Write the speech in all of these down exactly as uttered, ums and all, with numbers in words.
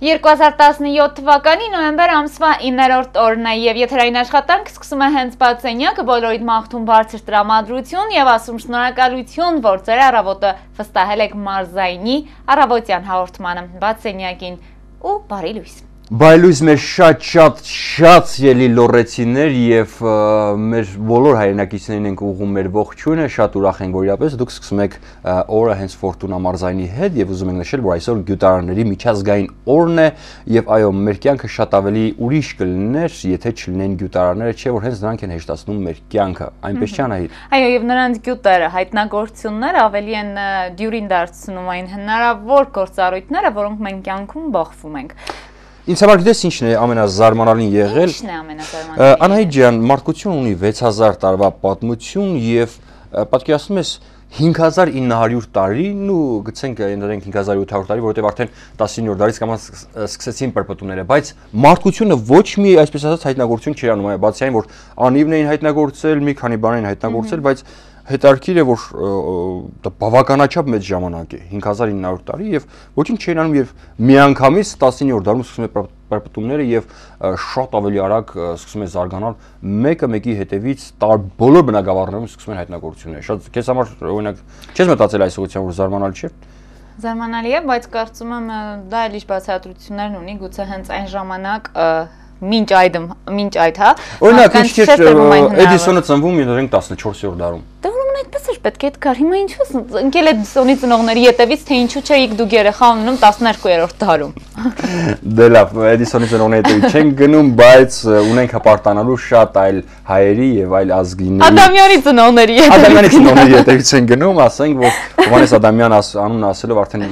երկու հազար տասնյոթ թվականի նոյեմբեր ամսվա իններորդ օրն է եւ եթերային աշխատանք սկսում է հենց Բացենյակը, բոլորիդ մաղթում բարձր տրամադրություն եւ ասում շնորհակալություն, որ ձեր առավոտը վստահել եք մարզայինի առավոտյան հաղորդմանը Բացենյակին ու բարի լույս։ Բայլույս մեր շատ շատ շատ ելի լորեցիներ եւ մեր բոլոր հայրենակիցներին ենք ուղղում մեր ողջույնը, շատ ուրախ ենք, որ իրապես դուք սկսում եք օրը հենց Ֆորտունա մարզայինի հետ եւ ուզում ենք նշել, որ այսօր գյուտարանների միջազգային օրն է եւ այո, մեր կյանքը շատ ավելի ուրիշ կլիներ, եթե չլինեն գյուտարանները, չէ՞ որ հենց նրանք են հեշտացնում մեր կյանքը, այնպես չէ՞ Անահիտ։ Այո, եւ նրանց գյուտերը, հայտնագործությունները ավելի են դյուրին դարձնում այն հնարավոր գործառույթները, որոնք մենք կյանքում բախվում ենք։ Ինձ համար գիտես ինչն է ամենազարմանալին եղել։ Ինչն է ամենազարմանալին։ Անահիտ ջան, մարդկություն ունի վեց հազար տարվա պատմություն եւ պատկերացնում ես հինգ հազար ինը հարյուր տարին ու գցենք ընդդենք հինգ հազար ութ հարյուր տարի, որովհետեւ արդեն տասնինը դարից կամ սկսեցին պրպտումները, բայց մարդկությունը ոչ մի այսպես ասած հայտնագործություն չի անում, բացի այն որ անիվն էին հայտնագործել, մի քանի բան էին հայտնագործել, բայց հետարքիր է որ դա բավականաչափ մեծ ժամանակ է հինգ հազար ինը հարյուր տարի եւ ոչինչ չէին անում եւ միանգամից տասնինը դարում սկսում է պրպտումները եւ շատ ավելի արագ սկսում է զարգանալ մեկը մեկի հետևից բոլոր բնակավարներում սկսում են հայտնագործությունները շատ քեզ համար օրինակ չես մտածել այս ուղղությամբ որ զարմանալի չէ։ Զարմանալի է, բայց կարծում եմ դա էլ ինչ բացատրություններն ունի, գուցե հենց այն ժամանակ Մինչ այդ, մինչ այդ, հա։ Օրինակ, ինչ Էդիսոնը ծնվում է տասնչորսերորդ դարում։ Դե ուրեմն այդպես էր պետք է դկար։ Հիմա ինչու ընկել Էդիսոնի ծնողների ետևից, թե ինչու չէիք դուք երեխա ունենում տասներկուերորդ դարում։ Դե լավ, Էդիսոնի ծնողների ետևից չենք գնում, բայց ունենք հպարտանալու շատ այլ հայերի եւ այլ ազգիների։ Ադամյանի ծնողների ետևից։ Ադամյանի ծնողների ետևից են գնում, ասենք, որ Հովհաննես Ադամյան անունը ասելով արդեն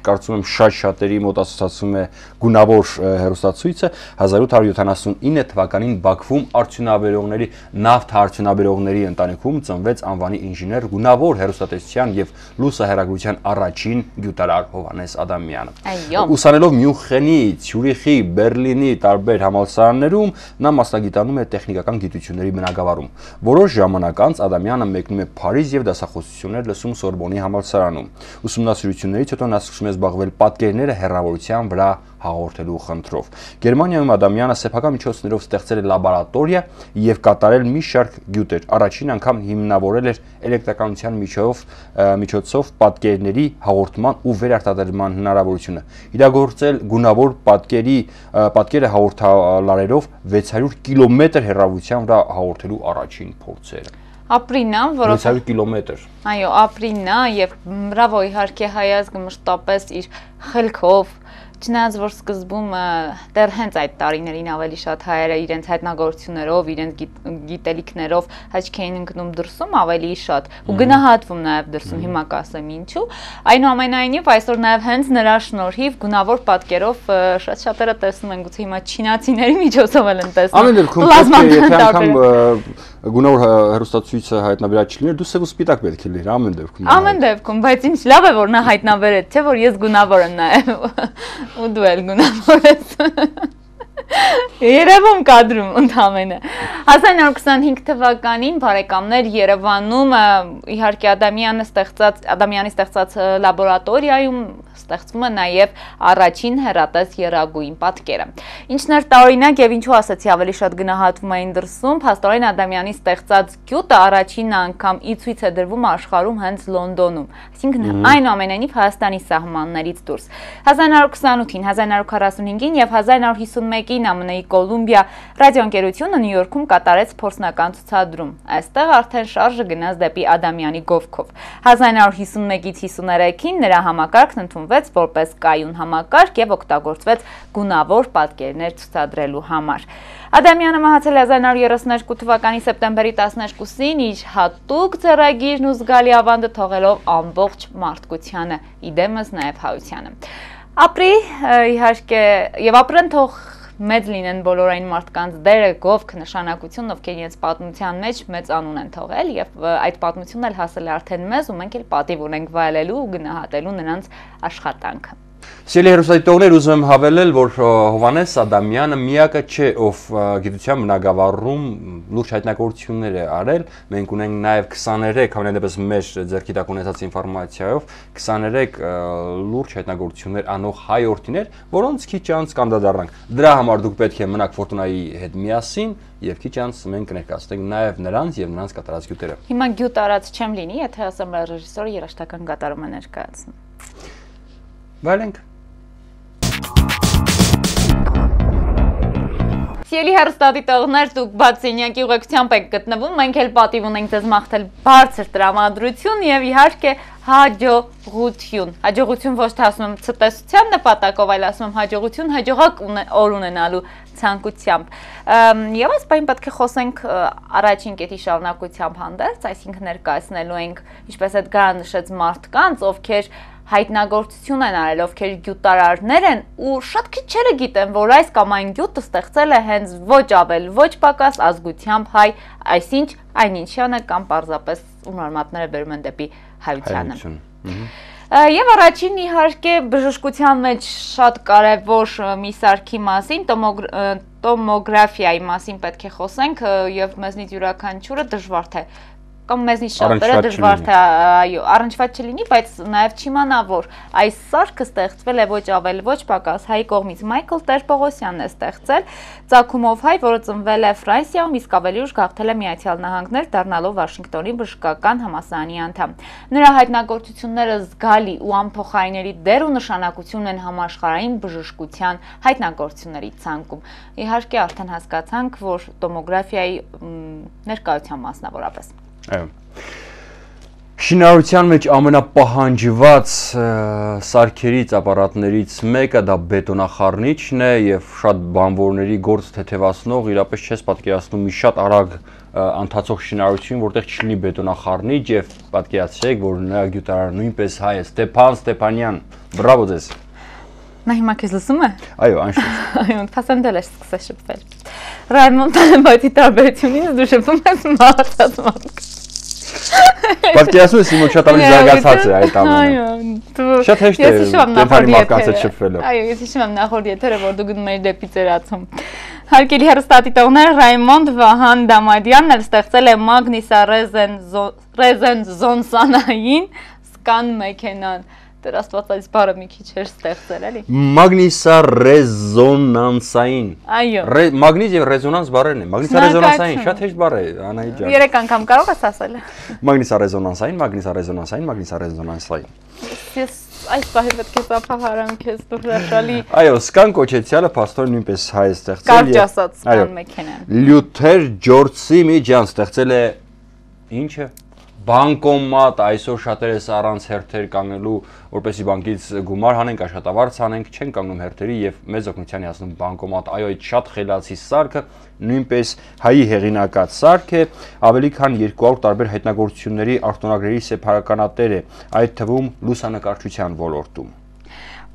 կարծում եմ շատ շատերի մոտ ասոցացվում է գունավոր հեռուստացույցը հազար ութ հարյուր յոթանասունինը թվականին Բաքվում արդյունաբերողների նավթ արդյունաբերողների ընտանիքում ծնվեց անվանի ինժեներ գունավոր հեռուստատեսության եւ լուսահեռագրության առաջին գյուտարար Հովհաննես Ադամյանը։ Ուսանելով Մյունխենի, Ցյուրիխի, Բերլինի տարբեր համալսարաններում նա մասնագիտանում է տեխնիկական գիտությունների բնագավառում։ Որոշ ժամանակ անց Ադամյանը մեկնում է Փարիզ եւ դասախոսություններ լսում Սորբոնի համալսարանում։ Ուսումնասիրություններից հետո նա սկսում է զբաղվել պատկերները հեռավորության վրա հաղորդելու խնդրով։ Գերմանիայում Ադամյանը սեփական միջոցներով ստեղծել է լաբորատորիա եւ կատարել մի շարք գյուտեր։ Առաջին անգամ հիմնավորել էր էլեկտրականության միջոցով միջոցով պատկերների հաղորդման ու վերարտադրման հնարավորությունը։ Իրագործել գունավոր պատկերի պատկերը հաղորդալարերով վեց հարյուր կիլոմետր հեռավորության վրա հաղորդելու առաջին փորձերը։ Ապրինա, որով վեց հարյուր կիլոմետր։ Այո, ապրինա եւ բրավո իհարկե հայազգը մշտապես իր խելքով Չնայած որ սկզբում դեռ հենց այդ տարիներին ավելի շատ հայերը իրենց հայտնագործություններով, իրենց գիտելիքներով հաճք էին ընկնում դրսում ավելի շատ ու գնահատվում նաև դրսում, հիմա կասեմ ինչու։ Այնուամենայնիվ այսօր նաև հենց նրա շնորհիվ գունավոր պատկերով շատ շատերը տեսնում են, գուցե հիմա չինացիների միջոցով էլ են տեսնում։ Ամեն դեպքում եթե անգամ գունավոր հեռուստացույցը հայտնաբերած չլիներ, դու սև ու սպիտակ պետք է լիներ ամեն դեպքում։ Ամեն դեպքում, բայց ինչ լավ է որ նա հայտնաբերեց, չէ՞ որ ես գունավոր եմ նաև։ Ու դու էլ գունավոր ես։ Երևում կադրում ընդամենը։ հազար նորը քսանհինգ թվականին բարեկամներ Երևանում իհարկե Ադամյանը ստեղծած Ադամյանի ստեղծած լաբորատորիայում ստեղծվում է նաև առաջին հեռատես եռագույն պատկերը։ Ինչն էր տարօրինակ եւ ինչու ասացի ավելի շատ գնահատվում էին դրսում, փաստորեն Ադամյանի ստեղծած գյուտը առաջին անգամ ի ցույց է դրվում աշխարհում հենց Լոնդոնում, այսինքն այնուամենայնիվ Հայաստանի սահմաններից դուրս։ հազար նորը քսանութին, հազար նորը քառասունհինգին եւ հազար նորը հիսունմեկին Ամն Կոլումբիա ռադիոընկերությունը Նյու Յորքում կատարեց փորձնական ցուցադրում։ Այստեղ արդեն շարժը գնաց դեպի Ադամյանի գովքով։ հազար նորը հիսունմեկից հիսուներեքին նրա համակարգն ընդունվեց որպես կայուն համակարգ եւ օգտագործվեց գունավոր պատկերներ ցուցադրելու համար։ Ադամյանը մահացել է հազար նորը երեսուներկու թվականի սեպտեմբերի տասներկուսին իր հատուկ ձեռագիրն ու զգալի ավանդը թողելով ամբողջ մարդկությանը, իդեմս նաեւ հայությանը։ Ապրի իհարկե եւ ապրեն թող մեծ լինեն բոլոր այն մարդկանց դերը, գովք, նշանակություն, ովքեր իրենց պատմության մեջ մեծ անուն են թողել եւ այդ պատմությունն էլ հասել է արդեն մեզ ու մենք էլ պատիվ ունենք վայելելու ու գնահատելու նրանց աշխատանքը։ Սիրելի հեռուստադիտողներ, ուզում եմ հավելել, որ Հովհաննես Ադամյանը միակը չէ, ով գիտության բնագավառում լուրջ հայտնագործություններ է արել։ Մենք ունենք նաև քսաներեք, հավանաբար մեր ձեռքի տակ ունեցած ինֆորմացիայով քսաներեք լուրջ հայտնագործություններ անող հայորդիներ, որոնց քիչ անց կանդրադառնանք։ Դրա համար դուք պետք է մնաք Ֆորտունայի հետ միասին եւ քիչ անց մենք կներկայացնենք նաև նրանց եւ նրանց կատարած գյուտերը։ Հիմա գյուտ արած չեմ լինի, եթե ասեմ ռեժիսորը երաժշտական կատարում է ներկայացնում։ Վայելենք։ Սիրելի հեռուստադիտողներ, դուք բացենյակի ուղեկցությամբ եք գտնվում, մենք էլ պատիվ ունենք ձեզ մաղթել բարձր տրամադրություն եւ իհարկե հաջողություն։ Հաջողություն ոչ թե ասում եմ ցտեսության նպատակով, այլ ասում եմ հաջողություն հաջողակ օր ունենալու ցանկությամբ։ Եվ այս բանը պետք է խոսենք առաջին կետի շարունակությամբ հանդերձ, այսինքն ներկայացնելու ենք, ինչպես Էդգարը նշեց, մարդկանց, ովքեր հայտնագործություն են արել, ովքեր գյուտարարներ են ու շատ քիչերը գիտեն, որ այս կամ այն գյուտը ստեղծել է հենց ոչ ավել, ոչ պակաս ազգությամբ հայ, այսինչ այնինչյանը կամ պարզապես ում արմատները բերում են դեպի հայությանը։ Եվ առաջին իհարկե բժշկության մեջ շատ կարևոր մի սարքի մասին, տոմոգրաֆիայի մասին պետք է խոսենք եւ մեզնից յուրաքանչյուրը դժվար թե կամ մեզնից շատերը դժվար թե այո, առնչված չլինի, բայց նաև չիմանա, որ այս սարքը ստեղծվել է ոչ ավել, ոչ պակաս հայ կողմից։ Մայքլ Տեր-Պողոսյանն է ստեղծել, ծագումով հայ, որը ծնվել է Ֆրանսիայում, իսկ ավելի ուշ գաղթել է Միացյալ Նահանգներ, դառնալով Վաշինգտոնի բժշկական համալսարանի անդամ։ Նրա հայտնագործությունները զգալի ու անփոխարինելի դեր ու նշանակություն են համաշխարհային բժշկության հայտնագործությունների ցանկում։ Իհարկե արդեն հասկացանք, որ տոմոգրաֆիայի ներկայության մասնավորապես Այո։ Շինարարության մեջ ամենապահանջված սարքերից, ապարատներից մեկը դա բետոնախառնիչն է եւ շատ բանվորների գործ թեթևացնող, իրապես չես պատկերացնում մի շատ արագ ընթացող շինարարություն, որտեղ չլինի բետոնախառնիչ եւ պատկերացրեք, որ նրա գյուտարարը նույնպես հայ է, Ստեփան Ստեփանյան։ Բրավո ձեզ։ Նա հիմա քեզ լսում է։ Այո, անշուշտ։ Այո, փասանդել է սկսել շփվել։ Ռայմոն Տանեբայթի տարբերությունից դու շփվում ես մահացած մարդկանց։ Պատկերացնում ես իմ շատ ավելի զարգացած է այդ ամենը։ Այո, դու շատ հեշտ է կենթանի մարդկանց հետ շփվելը։ Այո, ես հիշում եմ նախորդ եթերը, որ դու գնում էիր դեպի ծերացում։ Հարգելի հեռուստադիտողներ, Ռայմոնդ Վահան Դամադյանն էլ ստեղծել է մագնիսառեզոնանսային սկան մեքենան։ Դեռ աստվածածից բառը մի քիչ էր ստեղծել, էլի։ Մագնիսառեզոնանսային։ Այո։ Մագնիզ եւ ռեզոնանս բառերն են։ Մագնիսառեզոնանսային շատ հեշտ բառ է, Անահիտ ջան։ Երեք անգամ կարող ես ասել։ Մագնիսառեզոնանսային, մագնիսառեզոնանսային, մագնիսառեզոնանսային։ Ես այս բանը պետք է սափահարեմ քեզ դու հրաշալի։ Այո, սկան կոչեցյալը փաստորեն նույնպես հայ է ստեղծել։ Կարճ ասած սկան մեքենան։ Լյութեր Ջորջի միջան ստեղծել է ինչը բանկոմատ, այսօր շատերս առանց հերթեր կանգնելու, որպեսզի բանկից գումար հանենք, աշխատավարձ հանենք, չեն կանգնում հերթերի եւ մեծ օգնության հասնում բանկոմատ։ Այո, այդ շատ խելացի սարքը նույնպես հայի հեղինակած սարք է, ավելի քան երկու հարյուր տարբեր հայտնագործությունների արտոնագրերի սեփականատեր է, այդ թվում լուսանկարչության ոլորտում։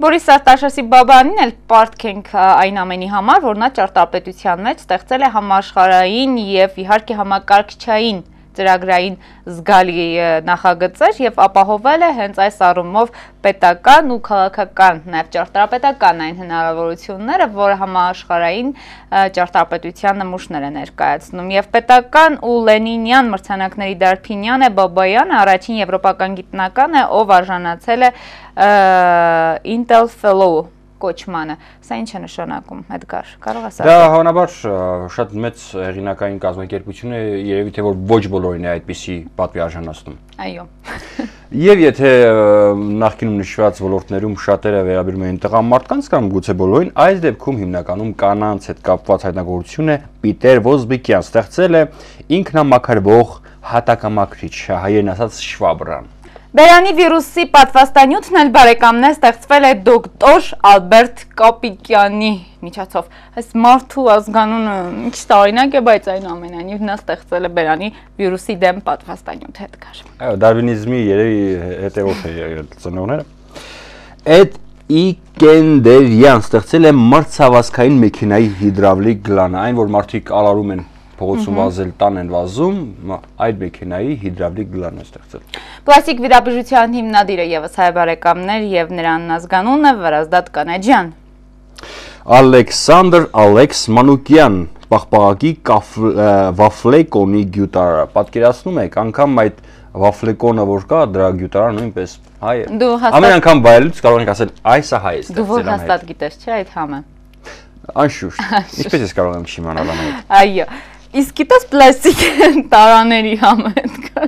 Բորիս Արտաշեսի Բաբանին էլ պարտքենք այն ամենի համար, որ նա ճարտարապետության մեջ ստեղծել է համաշխարհային եւ իհարկե համակարգչային ծրագրային զգալի նախագծեր եւ ապահովել է հենց այս առումով պետական ու քաղաքական, նաեւ ճարտարապետական այն հնարավորությունները, որ համաշխարհային ճարտարապետության նմուշներ է ներկայացնում եւ պետական ու Լենինյան մրցանակների դարբինյան է Բաբայանը առաջին եվրոպական գիտնական է, ով արժանացել է Intel Fellow կոչմանը։ Սա ինչ է նշանակում, Էդգար, կարող ես ասել։ Դա հավանաբար շատ մեծ հեղինակային կազմակերպություն է, երևի թե որ ոչ բոլորին է այդպիսի պատվի արժանացնում։ Այո։ Եվ եթե նախկինում նշված ոլորտներում շատերը վերաբերում են տղամարդկանց կամ գուցե բոլորին, այս դեպքում հիմնականում կանանց հետ կապված հայտնագործություն է Պիտեր Ոզբիկյան ստեղծել է ինքնամաքրվող հատակամաքրիչ, հայերեն ասած շվաբրան։ Բերանի վիրուսի պատվաստանյութն էլ բարեկամներ ստեղծվել է դոկտոր Ալբերտ Կապիկյանի միջոցով։ Այս մարդու ազգանունը ինչ տարօրինակ է, բայց այնուամենայնիվ նա ստեղծել է բերանի վիրուսի դեմ պատվաստանյութ Էդգար։ Այո, դարվինիզմի երևի հետևորդ է ծնողները։ Էդ Իգենդերյան ստեղծել է մրցավազքային մեքենայի հիդրավլիկ գլանը, այն որ մարդիկ ալարում են փողոցում վազել տան են վազում, այդ մեքենայի հիդրավլիկ գլանն է ստեղծել։ Պլաստիկ վիրաբուժության հիմնադիրը եւս հայ բարեկամներ եւ նրան ազգանունը Վարազդատ Կանաջյան։ Ալեքսանդր Ալեքս Մանուկյան, պաղպաղակի վաֆլեկոնի գյուտարը։ Պատկերացնում եք, անգամ այդ վաֆլեկոնը որ կա, դրա գյուտարը նույնպես հայ է։ Ամեն անգամ բայելուց կարող ենք ասել, այս է հայ է ստեղծել։ Դու որ հաստատ գիտես, չէ՞ այդ համը։ Անշուշտ։ Ինչպես ես կարող եմ չիմանալ ամեն։ Այո։ Իսկ գիտես պլաստիկ տարաների համը այդ կա։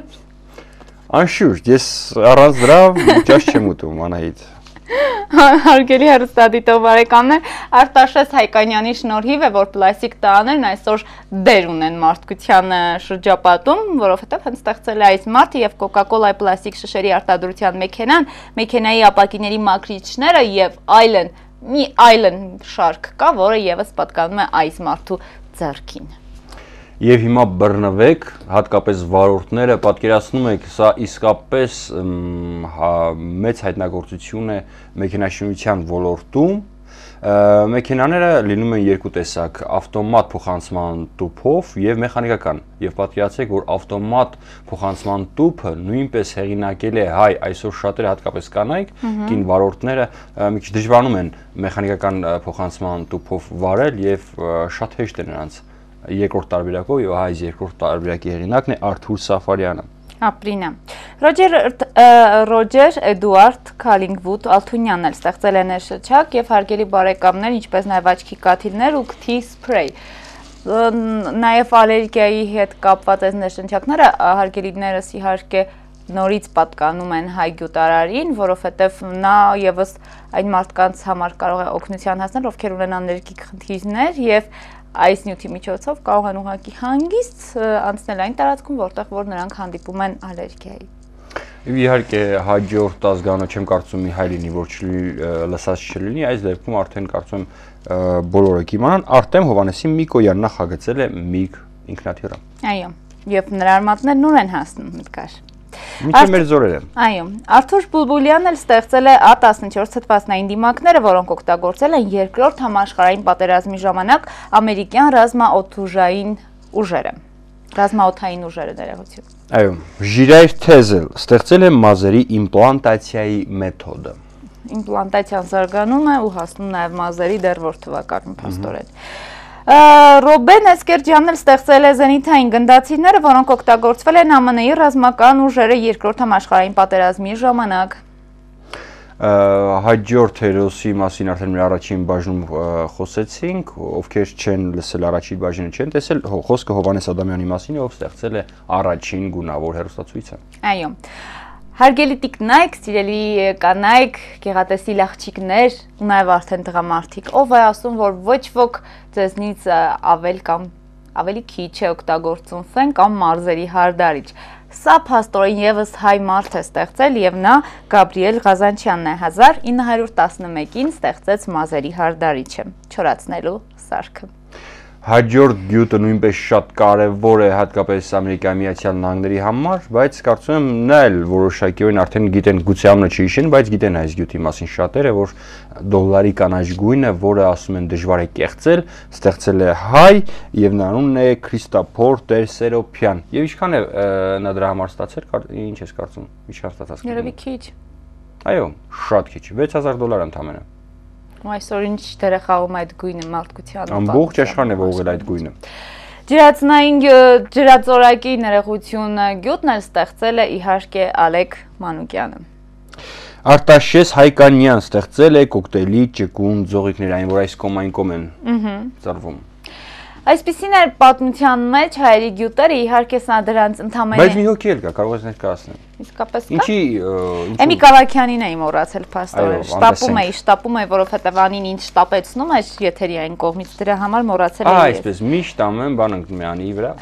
Անշուշտ, ես առանց դրա ճաշ չեմ ուտում, Անահիտ։ Հարգելի հեռուստադիտող բարեկամներ, Արտաշես Հայկանյանի շնորհիվ է, որ պլաստիկ տարաներն այսօր դեր ունեն մարդկության շրջապատում, որովհետև հենց ստեղծել է այս մարդը եւ Coca-Cola-ի պլաստիկ շշերի արտադրության մեքենան, մեքենայի ապակիների մաքրիչները եւ այլն, մի այլն շարք կա, որը եւս պատկանում է այս մարդու ձեռքին։ Եվ հիմա բռնվեք, հատկապես վարորդները, պատկերացնում եք, սա իսկապես մեծ հայտնագործություն է մեքենաշինության ոլորտում։ Մեքենաները լինում են երկու տեսակ, ավտոմատ փոխանցման տուփով եւ մեխանիկական։ Եվ պատկերացրեք, որ ավտոմատ փոխանցման տուփը նույնպես հեղինակել է հայ, այսօր շատերը հատկապես կանայք, կին վարորդները մի քիչ դժվարանում են մեխանիկական փոխանցման տուփով վարել եւ շատ հեշտ է նրանց երկրորդ տարբերակով եւ այս երկրորդ տարբերակի հեղինակն է Արթուր Սաֆարյանը։ Ապրինա։ Ռոջեր Ռոջեր Էդուարդ Քալինգվուդ Ալթունյանն էլ ստեղծել է ներշնչակ եւ հարգելի բարեկամներ, ինչպես նաեւ աչքի կաթիլներ ու քթի սփրեյ։ Նաեւ ալերգիայի հետ կապված այս ներշնչակները հարգելիներս իհարկե նորից պատկանում են հայ գյուտարարին, որովհետև նա եւս այն մարդկանց համար կարող է օգնության հասնել, ովքեր ունեն ալերգիկ խնդիրներ եւ այս նյութի միջոցով կարող են ուղղակի հանգիստ անցնել այն տարածքում, որտեղ որ նրանք հանդիպում են ալերգիայի։ Իհարկե հաջորդ ազգանունը չեմ կարծում մի հայ լինի, որ լսած չլինի, այս դեպքում արդեն կարծում եմ բոլորը կիմանան, Արտեմ Հովանեսի Միկոյան նախագծել է Միգ ինքնաթիռը։ Այո, եւ նրա արմատներն ուր են հասնում մտքար։ Մինչև մեր զորերը։ Այո, Արթուր Բուլբուլյանն էլ ստեղծել է Ա տասնչորս թթվածնային դիմակները, որոնք օգտագործել են երկրորդ համաշխարհային պատերազմի ժամանակ ամերիկյան ռազմաօդուժային ուժերը։ Ռազմաօդային ուժերը ներողություն։ Այո, Ժիրայր Թեզել ստեղծել է մազերի իմպլանտացիայի մեթոդը։ Իմպլանտացիան զարգանում է ու հասնում նաև մազերի դեռ որ թվականին փաստորեն։ Ռոբեն Էսկերջյանն էլ ստեղծել է զենիթային գնդացիրները, որոնք օգտագործվել են Ա Մ Ն-ի ռազմական ուժերը երկրորդ համաշխարհային պատերազմի ժամանակ։ Հաջորդ հերոսի մասին արդեն մեր առաջին բաժնում խոսեցինք, ովքեր չեն լսել առաջին բաժինը չեն տեսել, խոսքը Հովանես Ադամյանի մասին է, ով ստեղծել է առաջին գունավոր հեռուստացույցը։ Այո։ Հարգելի տիկնայք, սիրելի կանայք, գեղատեսիլ աղջիկներ, ու նաև արդեն տղամարդիկ, ով է ասում, որ ոչ ոք ձեզնից ավել կամ ավելի քիչ է օգտագործում ֆեն կամ մարզերի հարդարիչ։ Սա փաստորեն եւս հայ մարդ է ստեղծել եւ նա Գաբրիել Ղազանչյանն է հազար ինը հարյուր տասնմեկին ստեղծեց մազերի հարդարիչը, չորացնելու սարքը։ Հաջորդ գյուտը նույնպես շատ կարևոր է հատկապես Ամերիկայի Միացյալ Նահանգների համար, բայց կարծում եմ նա էլ որոշակիորեն արդեն գիտեն, գուցե անունը չհիշեն, բայց գիտեն այս գյուտի մասին շատերը, որ դոլարի կանաչ գույնը, որը ասում են դժվար է կեղծել, ստեղծել է հայ եւ նա անունն է Քրիստոփոր Տերսերոփյան։ Եվ ինչքան է նա դրա համար ստացել, ինչ ես կարծում, ինչքան ստացած։ Երևի քիչ։ Այո, շատ քիչ, վեց հազար դոլար ընդամենը։ Ու այսօր ինչ դեր է խաղում այդ գույնը մարդկության։ Ամբողջ աշխարհն է ողել այդ գույնը։ Ջրածնային ջրածորակի ներողությունը գյուտն էլ ստեղծել է իհարկե Ալեք Մանուկյանը։ Արտաշես Հայկանյան ստեղծել է կոկտեյլի ճկուն ձողիկներ, այն որ այս կոմային կոմ են ծառվում։ Այսպիսին էր պատմության մեջ հայերի գյուտերը, իհարկե սա դրանց ընդամենը։ Բայց մի հոգի էլ կա, կարող ես ներկայացնել։ Իսկապես կա։ Ինչի Էմի Կավակյանին էի մոռացել փաստորեն, շտապում էի, շտապում էի, որովհետև անին ինձ շտապեցնում է եթերի այն կողմից, դրա համար մոռացել էի։ Ահա այսպես միշտ անում են բան ընկմյանի վրա։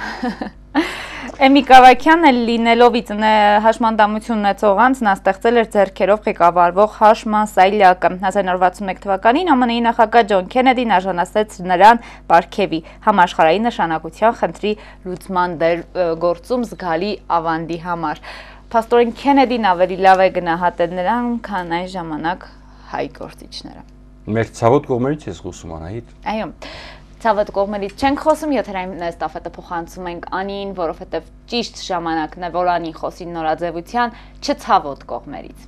Էմի Կավակյանը լինելով հաշմանդամություն ունեցող անձ նա ստեղծել էր ձեռքերով ղեկավարվող հաշման սայլակը։ հազար նոր վաթսունմեկ թվականին Ա Մ Ն-ի նախագահ Ջոն Քենեդին արժանացրեց նրան պարգևի համաշխարհային նշանակության խնդրի լուծման դեր գործում զգալի ավանդի համար։ Փաստորեն Քենեդին ավելի լավ է գնահատել նրան, քան այն ժամանակ հայ գործիչները։ Մեր ցավոտ կողմերից ես խոսում Անահիտ։ Այո։ Ցավոտ կողմերից չենք խոսում, եթերային ստաֆետը փոխանցում ենք Անին, որովհետև ճիշտ ժամանակն է, որ Անին խոսի նորաձևության չցավոտ կողմերից։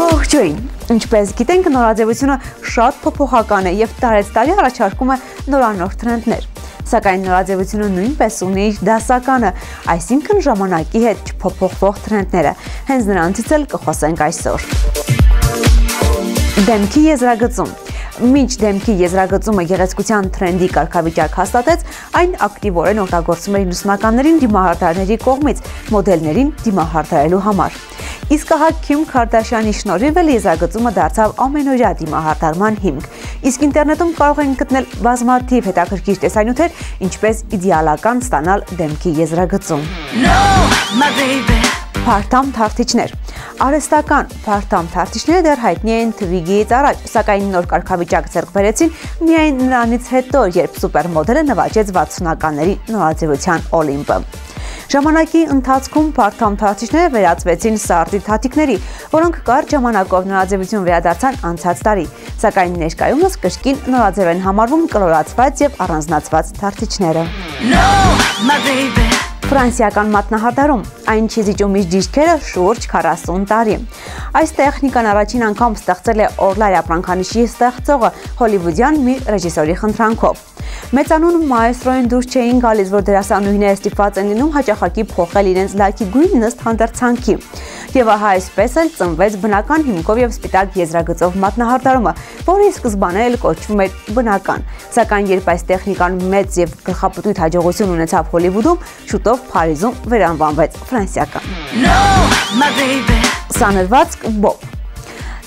Ողջույն, ինչպես գիտենք, նորաձևությունը շատ փոփոխական է եւ տարեցտարի առաջարկում է նորանոր տրենդներ։ Սակայն նորաձևությունը նույնպես ունի իր դասականը, այսինքն ժամանակի հետ չփոփոխվող տրենդները։ Հենց նրանցից էլ կխոսենք այսօր։ Դեմքի եզրագծում։ Մինչ դեմքի եզրագծումը գեղեցկության տրենդի կարգավիճակ հաստատեց, այն ակտիվորեն օգտագործվում էր նուսնականներին դիմահարդարների կողմից մոդելներին դիմահարդարելու համար։ Իսկ ահա Քիմ Քարդաշյանի շնորհիվ էլ եզրագծումը դարձավ ամենօրյա դիմահարդարման հիմք։ Իսկ ինտերնետում կարող են գտնել բազմաթիվ հետաքրքիր տեսանյութեր, ինչպես իդեալական ստանալ դեմքի եզրագծում։ Փարթամ թարթիչներ։ Արհեստական փարթամ թարթիչները դեռ հայտնի են Twiggy-ից առաջ, սակայն նոր կարգավիճակ ձեռք բերեցին միայն նրանից հետո, երբ սուպերմոդելը նվաճեց վաթսունականների նորաձևության Օլիմպը։ Ժամանակի ընթացքում փարթամ թարթիչները վերածվեցին սարդի թաթիկների, որոնք կարճ ժամանակով նորաձևություն վերադարձան անցած տարի, սակայն ներկայումս կրկին նորաձև են համարվում կլորացված եւ առանձնացված թարթիչները։ Ֆրանսիական մատնահարդարում այն չիզիջում իր դիրքերը շուրջ քառասուն տարի։ Այս տեխնիկան առաջին անգամ ստեղծել է Օրլայ ապրանքանիշի ստեղծողը հոլիվուդյան մի ռեժիսորի խնդրանքով։ Մեծանուն մայստրոին դուրս չէին գալիս, որ դերասանուհիները ստիպված են լինում հաճախակի փոխել իրենց լայքի գույնն ըստ հանդերձանքի։ Եվ ահա այսպես էլ ծնվեց բնական հիմքով եւ սպիտակ եզրագծով մատնահարդարումը, որը սկզբանե էլ կոչվում էր բնական։ Սակայն երբ այս տեխնիկան մեծ եւ գլխապտույտ հաջողություն ունեցավ Հոլիվուդում, շուտով Փարիզում վերանվանվեց ֆրանսիական։ Սանրվածք Բոբ։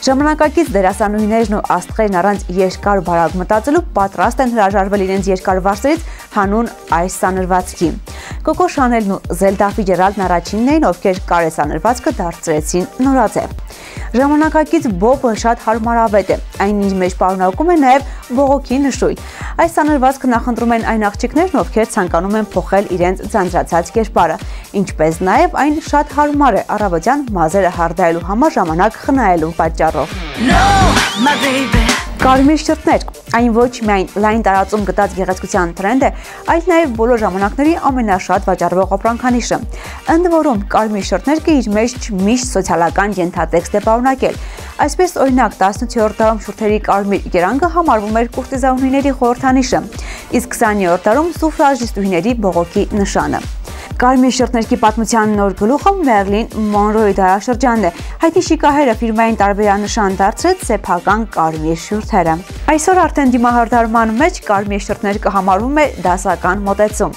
Ժամանակակից դերասանուհիներն ու աստղերն առանց երկար բարակ մտածելու պատրաստ են հրաժարվել իրենց երկար վարսերից հանուն այս սանրվածքի։ Կոկո Շանելն ու Զելդա Ֆիջերալդն առաջինն էին, ովքեր կարեսանրվածքը դարձրեցին նորաձև։ Ժամանակակից բոբը շատ հարմարավետ է, այն իր մեջ պարունակում է նաև բողոքի նշույլ։ Այս սանրվածքը նախընտրում են այն աղջիկներն, ովքեր ցանկանում են փոխել իրենց ձանձրացած կերպարը, ինչպես նաև այն շատ հարմար է առավոտյան մազերը հարդարելու համար ժամանակ խնայելու պատճառով։ Կարմիր շրթներ, այն ոչ միայն լայն տարածում գտած գեղեցկության տրենդ է, այլ նաև բոլոր ժամանակների ամենաշատ վաճառվող ապրանքանիշը։ Ընդ որում, կարմիր շրթներն իր մեջ միշտ սոցիալական ենթատեքստ է պարունակել։ Այսպես, օրինակ, տասնութերորդ դարում շուրթերի կարմիր կերանգը համարվում էր կուրտիզանուհիների խորհրդանիշը, իսկ քսաներորդ դարում սուֆրաժիստուհիների բողոքի նշանը։ Կարմիր շրթներքի պատմության նոր գլուխը Մերլին Մոնրոյի դարաշրջանն է։ Հայտնի շիկահերը ֆիրմային տարբերանշան դարձրեց սեփական կարմիր շուրթերը։ Այսօր արդեն դիմահարդարման մեջ կարմիր շրթներ կհամարվում է դասական մոտեցում։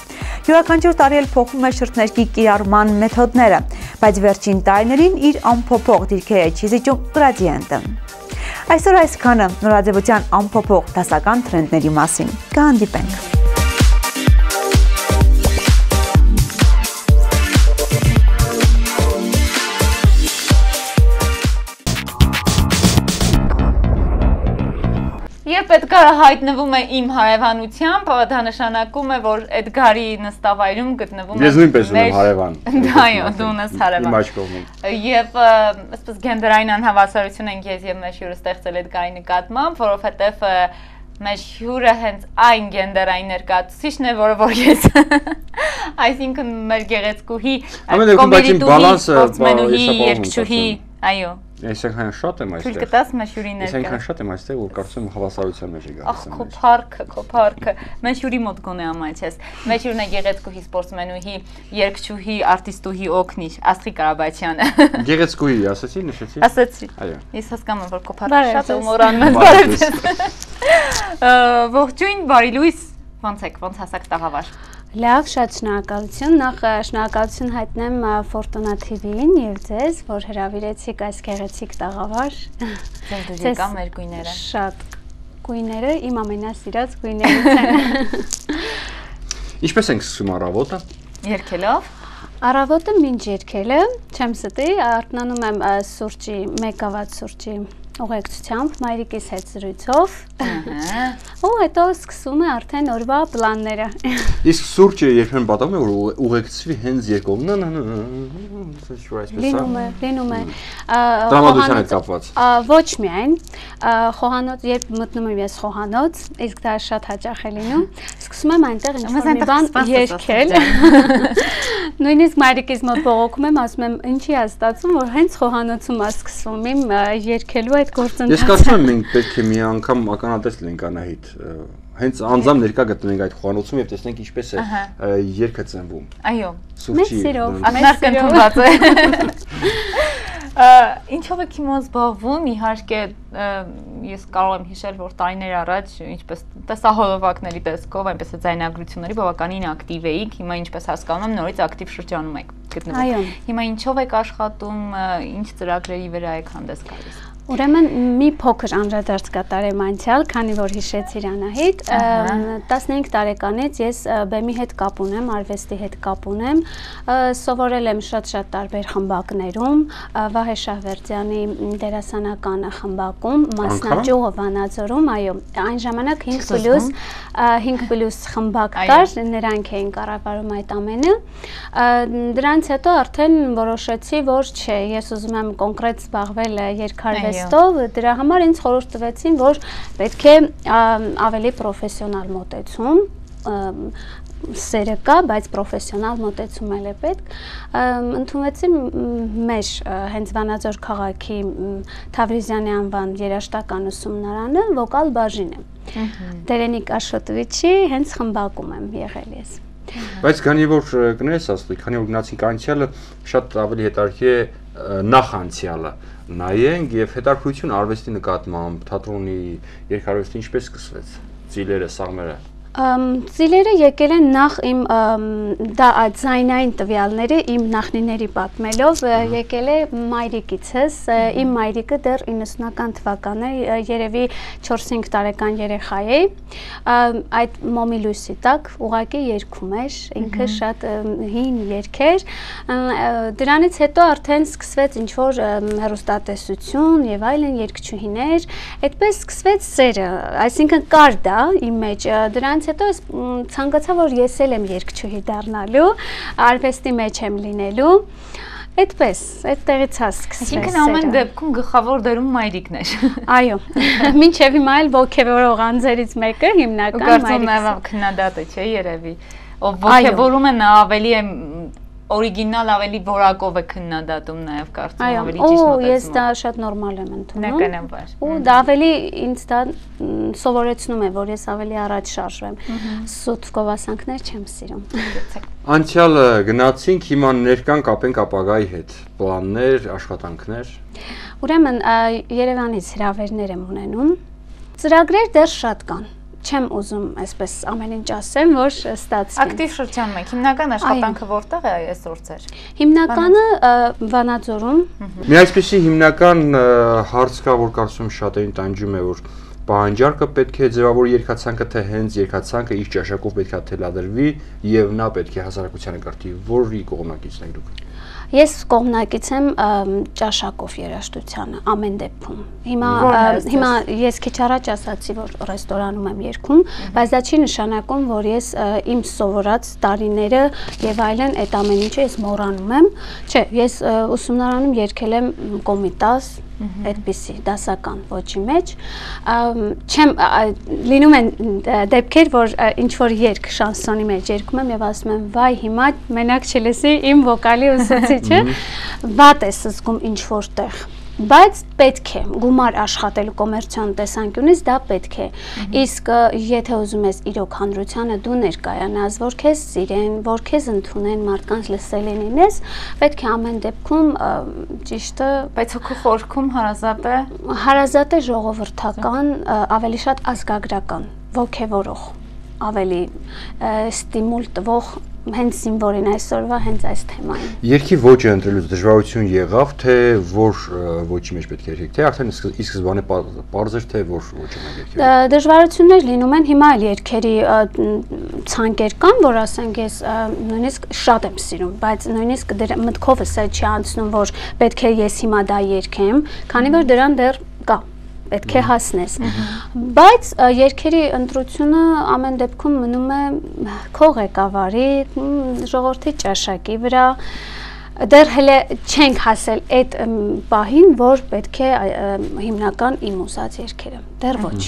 Յուրաքանչյուր տարի էլ փոխվում է շրթներքի կիրառման մեթոդները, բայց վերջին տարիներին իր անփոփոխ դիրքերը չիզիջում գրադիենտը։ Այսօր այսքանը նորաձևության անփոփոխ դասական տրենդների մասին։ Կհանդիպենք։ Երբ Էդգարը հայտնվում է իմ հարևանությամբ, դա նշանակում է, որ Էդգարի նստավայրում գտնվում է։ Ես նույնպես ունեմ հարևան։ Այո, դու ունես հարևան։ Իմ աջ կողմում։ Եվ այսպես գենդերային անհավասարություն ենք ես եւ մեր հյուրը ստեղծել Էդգարի նկատմամբ, որովհետեւ մեր հյուրը հենց այն գենդերային ներկայացուցիչն է, որը որ ես։ Այսինքն մեր գեղեցկուհի, կոմեդիտուհի, սպորտսմենուհի, երգչուհի, այո։ Ես այնքան շատ եմ այստեղ։ Թույլ կտաս մեր հյուրի ներկա։ Ես այնքան շատ եմ այստեղ, որ կարծում եմ հավասարության մեջ է գալիս։ Ախ, քո փառքը, քո փառքը։ Մեր հյուրի մոտ գոնե ամաչես։ Մեր հյուրն է գեղեցկուհի, սպորտսմենուհի, երգչուհի, արտիստուհի օգնիչ Աստղիկ Կարաբաչյանը։ Գեղեցկուհի, ասացի, նշեցի։ Ասացի։ Այո։ Ես հասկանում եմ, որ քո փառքը շատ է մորանում ես բարևձեզ։ Ողջույն, բարի լույս։ Ոնց եք, ոնց հասակ տաղավար։ Լավ, շատ շնորհակալություն։ Նախ շնորհակալություն հայտնեմ Ֆորտունա թի վիին եւ ձեզ, որ հրավիրեցիք այս գեղեցիկ տաղավար։ Ձեզ եկա մեր գույները։ Շատ գույները իմ ամենասիրած գույներից են։ Ինչպես ենք սկսում առավոտը։ Երգելով։ Առավոտը մինչ երգելը, չեմ ստի, արթնանում եմ սուրճի, մեկ գավաթ սուրճի ուղեկցությամբ, մայրիկիս հետ զրույցով։ Ու հետո սկսում է արդեն օրվա պլանները։ Իսկ սուրճը երբեմն պատահում է որ ուղեկցվի հենց երկով։ Լինում է, լինում է։ Տրամադրության հետ կապված։ Ոչ միայն, խոհանոց, երբ մտնում եմ ես խոհանոց, իսկ դա շատ հաճախ է լինում, սկսում եմ այնտեղ ինչ-որ մի բան երգել։ Նույնիսկ մայրիկիս մոտ բողոքում եմ, ասում եմ, ինչի է ստացվում, որ հենց խոհանոցում է սկսվում իմ երգելու այդ գործընթացը։ Ես կարծում եմ մենք պետք է մի անգամ ականատես լինենք Անահիտ, հենց անձամբ ներկա գտնենք այդ խոհանոցում եւ տեսնենք ինչպես է երգը ծնվում։ Այո։ Մեծ սիրով, մեծ կընդունված է։ Ինչով եք հիմա զբաղվում, իհարկե ես կարող եմ հիշել, որ տարիներ առաջ ինչպես տեսահոլովակների տեսքով, այնպես է ձայնագրությունների բավականին ակտիվ էիք, հիմա ինչպես հասկանում եմ, նորից ակտիվ շրջանում եք գտնվում։ Հիմա ինչով եք աշխատում, ինչ ծրագրերի վրա եք հանդես գալիս։ Ուրեմն մի փոքր անդրադարձ կատարեմ անցյալ, քանի որ հիշեցիր Անահիտ, տասնհինգ տարեկանից ես բեմի հետ կապ ունեմ, արվեստի հետ կապ ունեմ, սովորել եմ շատ-շատ տարբեր խմբակներում, Վահե Շահվերդյանի դերասանական խմբակում, Մասնաճյուղը Վանաձորում, այո, այն ժամանակ հինգ պլյուս խմբակ կար, նրանք էին կառավարում այդ ամենը։ Դրանից հետո արդեն որոշեցի, որ չէ, ես ուզում եմ կոնկրետ զբաղվել երգարվեստով, դրա համար ինձ խորհուրդ տվեցին, որ պետք է ավելի պրոֆեսիոնալ մոտեցում, սերը կա, բայց պրոֆեսիոնալ մոտեցում էլ է պետք, ընդունվեցի մեր հենց Վանաձոր քաղաքի Թավրիզյանի անվան երաժշտական ուսումնարանը վոկալ բաժինը։ Դերենիկ Աշոտովիչի հենց խմբակում եմ եղել ես։ Բայց քանի որ կներես ասլի, քանի որ գնացինք անցյալը, շատ ավելի հետաքրքիր է նախ անցյալը նայենք եւ հետաքրքրություն արվեստի նկատմամբ, թատրոնի, երգարվեստի ինչպես սկսվեց, ծիլերը, սաղմերը։ Ծիլերը եկել են նախ իմ դա ձայնային տվյալները իմ նախնիների պատմելով եկել է մայրիկիցս, իմ մայրիկը դեռ իննսունական թվականներ երևի չորս-հինգ տարեկան երեխա է, այդ մոմի լույսի տակ ուղղակի երգում էր, ինքը շատ հին երգեր, դրանից հետո արդեն սկսվեց ինչ-որ հեռուստատեսություն եւ այլն երգչուհիներ, այդպես սկսվեց սերը, այսինքն կար դա իմ մեջ, դրանից հետո ես ցանկացա, որ ես էլ եմ երգչուհի դառնալու, արվեստի մեջ եմ լինելու, այդպես, այդտեղից է սկսվել։ Այսինքն ամեն դեպքում գլխավոր դերում մայրիկն էր։ Այո, մինչև հիմա էլ ոգևորող անձերից մեկը հիմնական մայրիկն է։ Կարծում եմ քննադատը չէ երևի, ով ոգևորում է նա ավելի է օրիգինալ ավելի որակով է քննադատում նաև կարծում ավելի ճիշտ մոտեցում։ Այո, ես դա շատ նորմալ եմ ընդունում։ Նկատաբար։ Ու դա ավելի ինձ դա սովորեցնում է, որ ես ավելի առաջ շարժվեմ։ Սուտ գովասանքներ չեմ սիրում։ Անցյալը գնացինք, հիմա ներկան կապենք ապագայի հետ։ Պլաններ, աշխատանքներ։ Ուրեմն Երևանից հրավերներ եմ ունենում։ Ծրագրեր դեռ շատ կան։ Չեմ ուզում այսպես ամեն ինչ ասեմ, որ ստացվի։ Ակտիվ շրջանում եք։ Հիմնական աշխատանքը որտեղ է այսօր ձեր։ Հիմնականը Վանաձորում։ Մի այսպեսի հիմնական հարց կա, որ կարծում եմ շատերին տանջում է, որ պահանջարկը պետք է ձևավորի երգացանկը, թե հենց երգացանկը իր ճաշակով պետք է թելադրվի եւ նա պետք է հասարակությանը կրթի, որի կողմնակիցն եք դուք։ Ես կողմնակից եմ ճաշակով երաժշտությանը ամեն դեպքում։ Հիմա հիմա ես քիչ առաջ ասացի, որ ռեստորանում եմ երգում, բայց դա չի նշանակում, որ ես իմ սովորած տարիները եւ այլն այդ ամեն ինչը ես մոռանում եմ։ Չէ, ես ուսումնարանում երգել եմ Կոմիտաս, այդպիսի դասական ոճի մեջ, չեմ լինում են դեպքեր, որ ինչ որ երգ շանսոնի մեջ երգում եմ եւ ասում եմ վայ հիմա մենակ չլսի իմ վոկալի ուսուցիչը, վատ ես զգում ինչ որտեղ, բայց պետք է գումար աշխատելու կոմերցիոն տեսանկյունից դա պետք է, իսկ եթե ուզում ես իրոք հանրությանը դու ներկայանաս, որ քեզ սիրեն, որ քեզ ընդունեն, մարդկանց լսելի լինես, պետք է ամեն դեպքում ճիշտը, բայց հոգու խորքում հարազատ է, հարազատ է ժողովրդական, ավելի շատ ազգագրական, ոգևորող, ավելի ստիմուլ տվող հենց զինվորին այսօրվա հենց այս թեմային։ Երգի ոճը ընտրելուց դժվարություն եղավ, թե որ ոճի մեջ պետք է երգեք, թե արդեն ի սկզբանե պարզ էր, թե որ ոճը մենք երգել։ Դժվարություններ լինում են, հիմա էլ երգերի ցանկեր կան, որ ասենք ես նույնիսկ շատ եմ սիրում, բայց նույնիսկ մտքովս է չի անցնում, որ պետք է ես հիմա դա երգեմ, քանի որ դրան դեռ կա պետք է հասնես։ Բայց երգերի ընտրությունը ամեն դեպքում մնում է քո ղեկավարի, ժողովրդի ճաշակի վրա։ Դեռ հələ չենք հասել այդ պահին, որ պետք է հիմնական իմ ուզած երգերը։ Դեռ ոչ։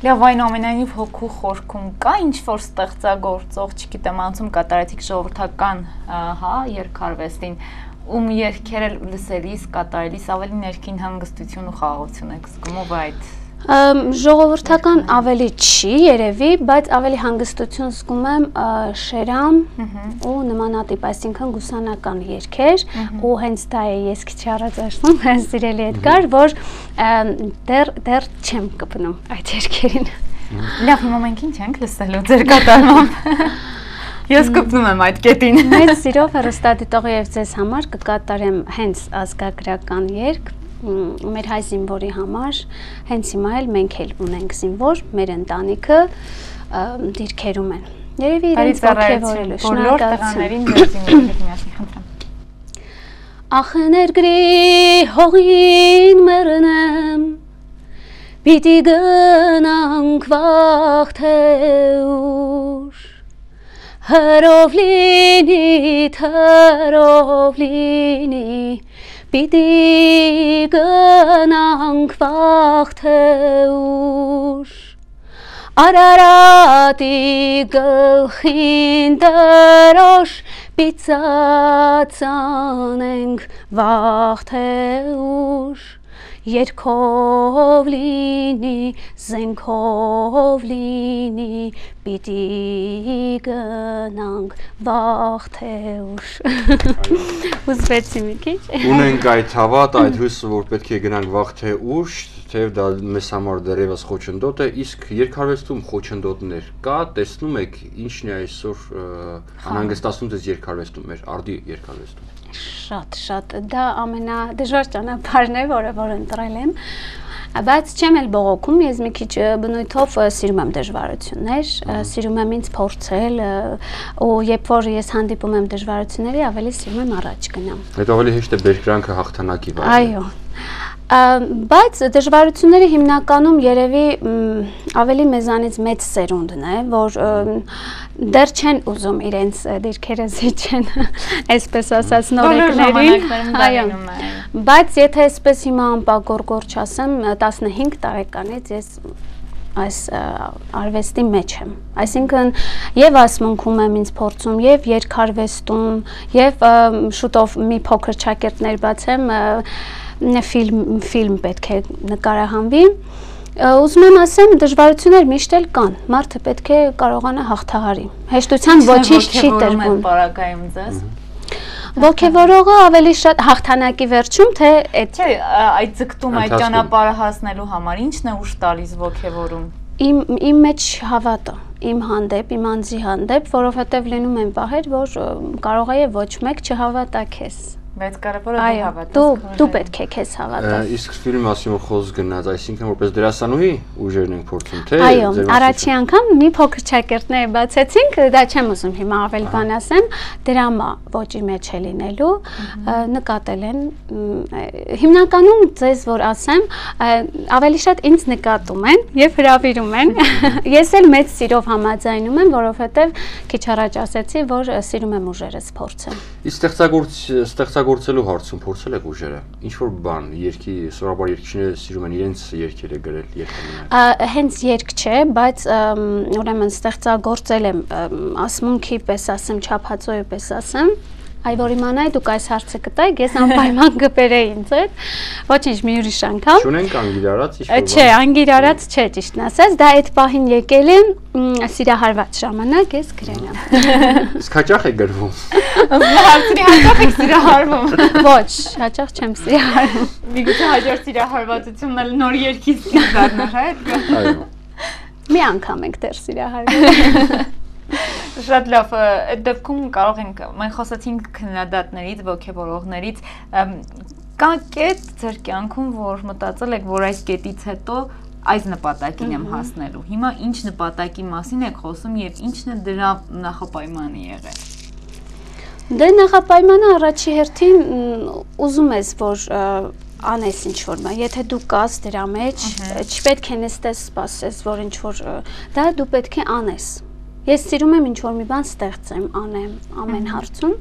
Լավ, այնուամենայնիվ հոգու խորքում կա ինչ-որ ստեղծագործող, չգիտեմ, անցում կատարեցիք ժողովրդական, հա, երգարվեստին, ում երգերը լսելիս, կատարելիս ավելի ներքին հանգստություն ու խաղաղություն եք զգում, ով այդ ժողովրդական ավելի չի երևի, բայց ավելի հանգստություն զգում եմ Շերամ ու նմանատիպ, այսինքն գուսանական երգեր, ու հենց դա է ես քիչ առաջ ասում, սիրելի Էդգար, որ դեռ դեռ չեմ կպնում այդ երգերին։ Լավ, հիմա մենք ինչ ենք լսելու ձեր կատարմամբ։ Ես կպնում եմ այդ կետին։ Մեծ սիրով հեռուստադիտողի եւ ձեզ համար կկատարեմ հենց ազգագրական երգ մեր հայ զինվորի համար, հենց հիմա էլ մենք էլ ունենք զինվոր, մեր ընտանիքը դիրքերում են։ Երևի իրենց ողջևորելու շնորհակալություն։ Բոլոր տղաներին ձեր զինվորի հետ միասին խնդրեմ։ Ախ ներգրի հողին մեռնեմ, պիտի գնանք վաղ թե ուշ, հրով լինի, թրով լինի, պիտի գնանք վաղ թե ուշ, Արարատի գլխին դրոշ, պիծած անենք վաղ թե ուշ, Երկով լինի, զենքով լինի, պիտի գնանք վաղ թե ուշ։ Ուզվեցի մի քիչ։ Ունենք այդ հավատ, այդ հույսը, որ պետք է գնանք վաղ թե ուշ, թեև դա մեզ համար դեռևս խոչընդոտ է, իսկ երգարվեստում խոչընդոտներ կա, տեսնում եք ինչն է այսօր անհանգստացնում ձեզ երգարվեստում, մեր արդի երգարվեստում։ Շատ, շատ, դա ամենադժվար ճանապարհն է, որը որ ընտրել եմ, բայց չեմ էլ բողոքում, ես մի քիչ բնույթով սիրում եմ դժվարություններ, սիրում եմ ինձ փորձել, ու երբ որ ես հանդիպում եմ դժվարությունների, ավելի սիրում եմ առաջ գնամ։ Հետո ավելի հեշտ է բերկրանքը հաղթանակի վարել։ Այո։ Բայց դժվարությունների հիմնականում երևի ավելի մեզանից մեծ սերունդն է, որ դեռ չեն ուզում իրենց դիրքերը զիջեն, այսպես ասած նորեկներին, բայց եթե այսպես հիմա անպագորգոր չասեմ, տասնհինգ տարեկանից ես այս արվեստի մեջ եմ, այսինքն եւ ասմունքում եմ ինձ փորձում, եւ երգարվեստում, եւ շուտով մի փոքր ճակերտներ բացեմ, ֆիլմ ֆիլմ պետք է նկարահանվի, ուզում եմ ասեմ, դժվարություններ միշտ էլ կան, մարդը պետք է կարողանա հաղթահարի, հեշտության ոչինչ չի տրվում։ Ոգևորողը ավելի շատ հաղթանակի վերջում, թե այդ ձգտում այդ ճանապարհը հասնելու համար ինչն է ուժ տալիս ոգևորում։ Իմ մեջ հավատը, իմ հանդեպ, իմ անձի հանդեպ, որովհետև լինում են պահեր, որ կարող է ոչ մեկ չհավատա քեզ։ Բայց կարևորը դու հավատաս։ Դու դու պետք է քեզ հավատաս։ Իսկ ֆիլմի մասին որ խոսք գնաց, այսինքն որպես դերասանուհի ուժերն ենք փորձում, թե Այո, առաջի անգամ մի փոքր ճակերտներ բացեցինք, դա չեմ ուզում հիմա ավելի բան ասեմ, դրամա ոճի մեջ է լինելու, նկատել են հիմնականում ձեզ որ ասեմ, ավելի շատ ինձ նկատում են եւ հրավիրում են։ Ես էլ մեծ սիրով համաձայնում եմ, որովհետեւ քիչ առաջ ասեցի, որ սիրում եմ ուժերս փորձել։ Իսկ ստեղծագործ ստեղծագործելու հարցում փորձել եք ուժերը։ Ինչ որ բան, երգի, սովորաբար երգիչները սիրում են իրենց երգերը գրել, երգել։ Հենց երգ չէ, բայց ուրեմն ստեղծագործել եմ ասմունքի պես ասեմ, չափածոյի պես ասեմ։ Այ որ իմանայի դուք այս հարցը կտայիք, ես անպայման կբերեի ինձ հետ, ոչինչ մի ուրիշ անգամ։ Չունենք անգիրարած ինչ-որ բան։ Չէ, անգիրարած չէ, ճիշտն ասած, դա այդ պահին եկել է սիրահարված ժամանակ, ես գրել եմ։ Իսկ հաճախ է գրվում։ Հարցրի հաճախ եք սիրահարվում։ Ոչ, հաճախ չեմ սիրահարվում։ Միգուցե հաջորդ սիրահարվածությունն էլ նոր երգից դառնար, հա՞։ Այո։ Մի անգամ ենք դեռ սիրահարվել։ Շատ լավ, այդ դեպքում կարող ենք, մենք խոսացինք քննադատներից, ոգևորողներից, կա կետ ձեր կյանքում, որ մտածել եք, որ այս կետից հետո այս նպատակին եմ հասնելու։ Հիմա ինչ նպատակի մասին եք խոսում եւ ինչն է դրա նախապայմանը եղել։ Դե նախապայմանը առաջի հերթին ուզում ես, որ անես ինչ-որ բան, եթե դու կաս դրա մեջ, չպետք է նստես սպասես, որ ինչ-որ, դա դու պետք է անես, ես սիրում եմ ինչ-որ մի բան ստեղծեմ, անեմ ամեն հարցում,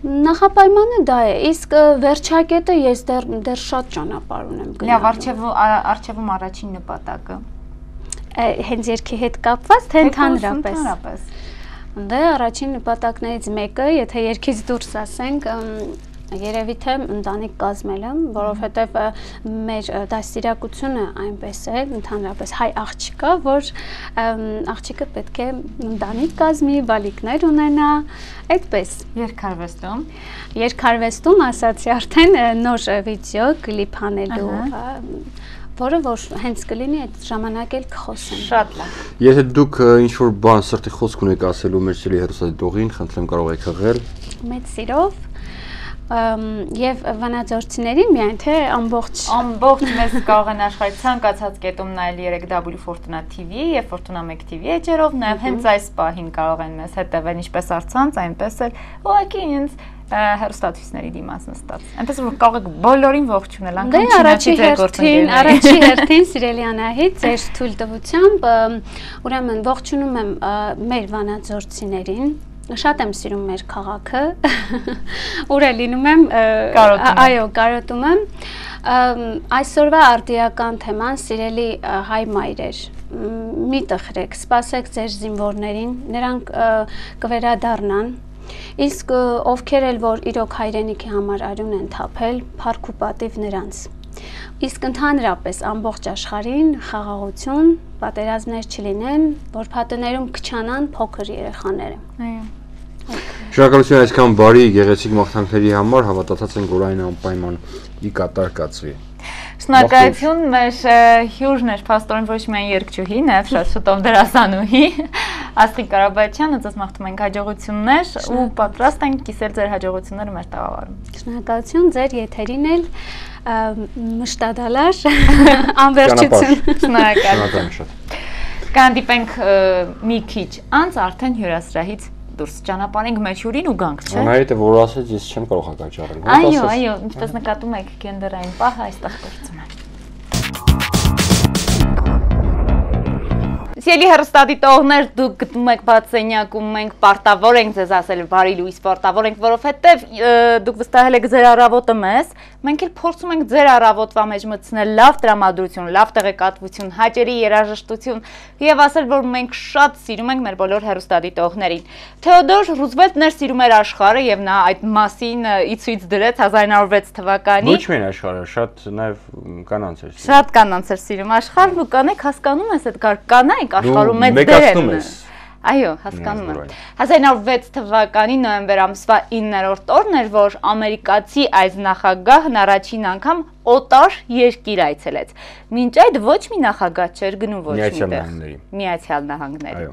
նախապայմանը դա է, իսկ վերջակետը ես դեռ շատ ճանապարհ ունեմ գնալու։ Լավ, առջևում առաջին նպատակը։ Հենց երգի հետ կապված, թե ընդհանրապես։ Դե առաջին նպատակներից մեկը, եթե երգից դուրս ասենք, երևի թե ընտանիք կազմելը, որովհետև մեր դաստիարակությունը այնպես է, ընդհանրապես հայ աղջիկա, որ աղջիկը պետք է ընտանիք կազմի, բալիկներ ունենա, այդպես։ Երգարվեստում։ Երգարվեստում ասացի արդեն նոր վիդեո կլիպ անելու, որը որ հենց կլինի այդ ժամանակ էլ կխոսեմ։ Շատ լավ։ Եթե դուք ինչ-որ բան սրտի խոսք ունեք ասելու մեր սիրելի հեռուստադիտողին, խնդրեմ կարող եք հղել։ Մեծ սիրով եւ վանաձորցիներին միայն թե ամբողջ ամբողջ մեզ կարող են աշխարհի ցանկացած կետում նայել երեք W Fortuna T V եւ Fortuna մեկ T V էջերով, նաեւ հենց այս պահին կարող են մեզ հետևել ինչպես առցանց, այնպես էլ ուղղակի ինձ հեռուստացույցների դիմաց նստած։ Այնպես որ կարող եք բոլորին ողջունել, անգամ առաջի հերթին, առաջի հերթին սիրելի Անահիտ, ձեր թույլտվությամբ ուրեմն ողջունում եմ մեր վանաձորցիներին։ Շատ եմ սիրում մեր քաղաքը, ուր է լինում եմ, այո, կարոտում եմ, այսօրվա արդիական թեման սիրելի հայ մայրեր, մի տխրեք, սպասեք ձեր զինվորներին, նրանք կվերադառնան, իսկ ովքեր էլ որ իրոք հայրենիքի համար արյուն են թափել, փառք ու պատիվ նրանց։ Իսկ ընդհանրապես ամբողջ աշխարհին խաղաղություն, պատերազմներ չլինեն, որ փաթեներում քչանան փոքր երեխաները։ Այո։ Շնորհակալություն այսքան բարի գեղեցիկ մաղթանքների համար, հավատացած ենք, որ այն անպայման ի կատար կացվի։ Շնորհակալություն մեր հյուրն էր փաստորեն ոչ միայն երգչուհի, նաև շատ շուտով դերասանուհի Աստղիկ Կարաբաչյանը, ձեզ մաղթում ենք հաջողություններ ու պատրաստ ենք կիսել ձեր հաջողությունները մեր տաղավարում։ Շնորհակալություն ձեր եթերին էլ մշտադալար անվերջություն։ Շնորհակալություն։ Կհանդիպենք մի քիչ անց արդեն հյուրասրահից դուրս ճանապարհենք մեր հյուրին ու գանք, չէ՞։ Անահիտը որ ասեց, ես չեմ կարող հակաճառել։ Այո, այո, ինչպես նկատում եք, գենդերային պահը այստեղ գործում է։ Սիրելի հեռուստադիտողներ, դուք գտնում եք բացենյակում, մենք պարտավոր ենք ձեզ ասել բարի լույս, պարտավոր ենք, որովհետև դուք վստահել եք ձեր առավոտը մեզ, մենք էլ փորձում ենք ձեր առավոտվա մեջ մտցնել լավ տրամադրություն, լավ տեղեկատվություն, հաճելի երաժշտություն եւ ասել, որ մենք շատ սիրում ենք մեր բոլոր հեռուստադիտողներին։ Թեոդոր Ռուզվելտն էր սիրում էր աշխարհը եւ նա այդ մասին ի ցույց դրեց հազար իննսուն ութ թվականին։ Ոչ միայն աշխարհը, շատ նաեւ կանանց էր սիրում։ Շատ կանանց էր սիրում աշխարհն ու կանեք հասկանում ես այդ կար կանայք աշխարհում մեծ դեր են։ Այո, հասկանում եմ։ հազար իննսուն ութ թվականի նոյեմբեր ամսվա իններորդ օրն էր, որ ամերիկացի այս նախագահն առաջին անգամ օտար երկիր այցելեց։ Մինչ այդ ոչ մի նախագահ չէր գնում ոչ միտեղ։ Միացյալ Նահանգների։ Այո։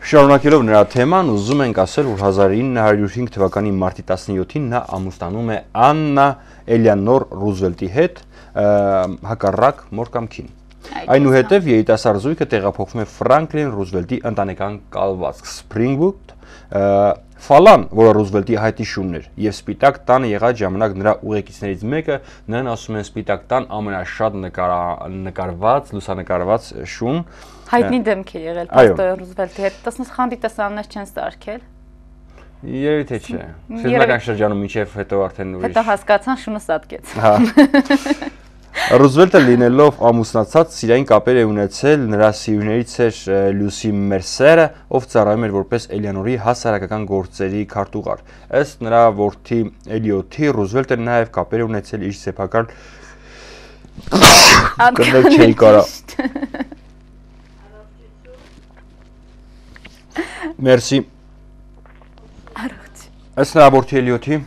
Շարունակելով նրա թեման, ուզում ենք ասել, որ հազար ինը հարյուր հինգ թվականի մարտի տասնյոթին նա ամուսնանում է Աննա Էլեանոր Ռուզվելտի հետ, հակառակ մոր կամքին։ Այնուհետև երիտասարդ զույգը տեղափոխվում է Ֆրանկլին Ռուզվելտի ընտանեկան կալվածք Սփրինգվուդ, Ֆալան, որը Ռուզվելտի հայտի շունն էր, եւ Սպիտակ տանը եղած ժամանակ նրա ուղեկիցներից մեկը, նրան ասում են Սպիտակ տան ամենաշատ նկարված, լուսանկարված շուն։ Հայտնի դեմք է եղել Պաստոր Ռուզվելտի հետ, տասնս խանդի տեսաններ չեն ստարկել։ Երևի թե չէ։ Սկզբնական շրջանում մինչև հետո արդեն ուրիշ։ Հետո հասկացան շունը ստատկեց։ Հա։ Ռուզվելտը լինելով ամուսնացած սիրային կապեր է ունեցել նրա սիրուներից էր Լյուսի Մերսերը, ով ծառայում էր որպես Էլեանորի հասարակական գործերի քարտուղար։ Ըստ նրա որդի Էլիոթի, Ռուզվելտը նաև կապեր է ունեցել իր սեփական կնել չէի կարա։ Մերսի։ Առողջ։ Ըստ նրա որդի Էլիոթի։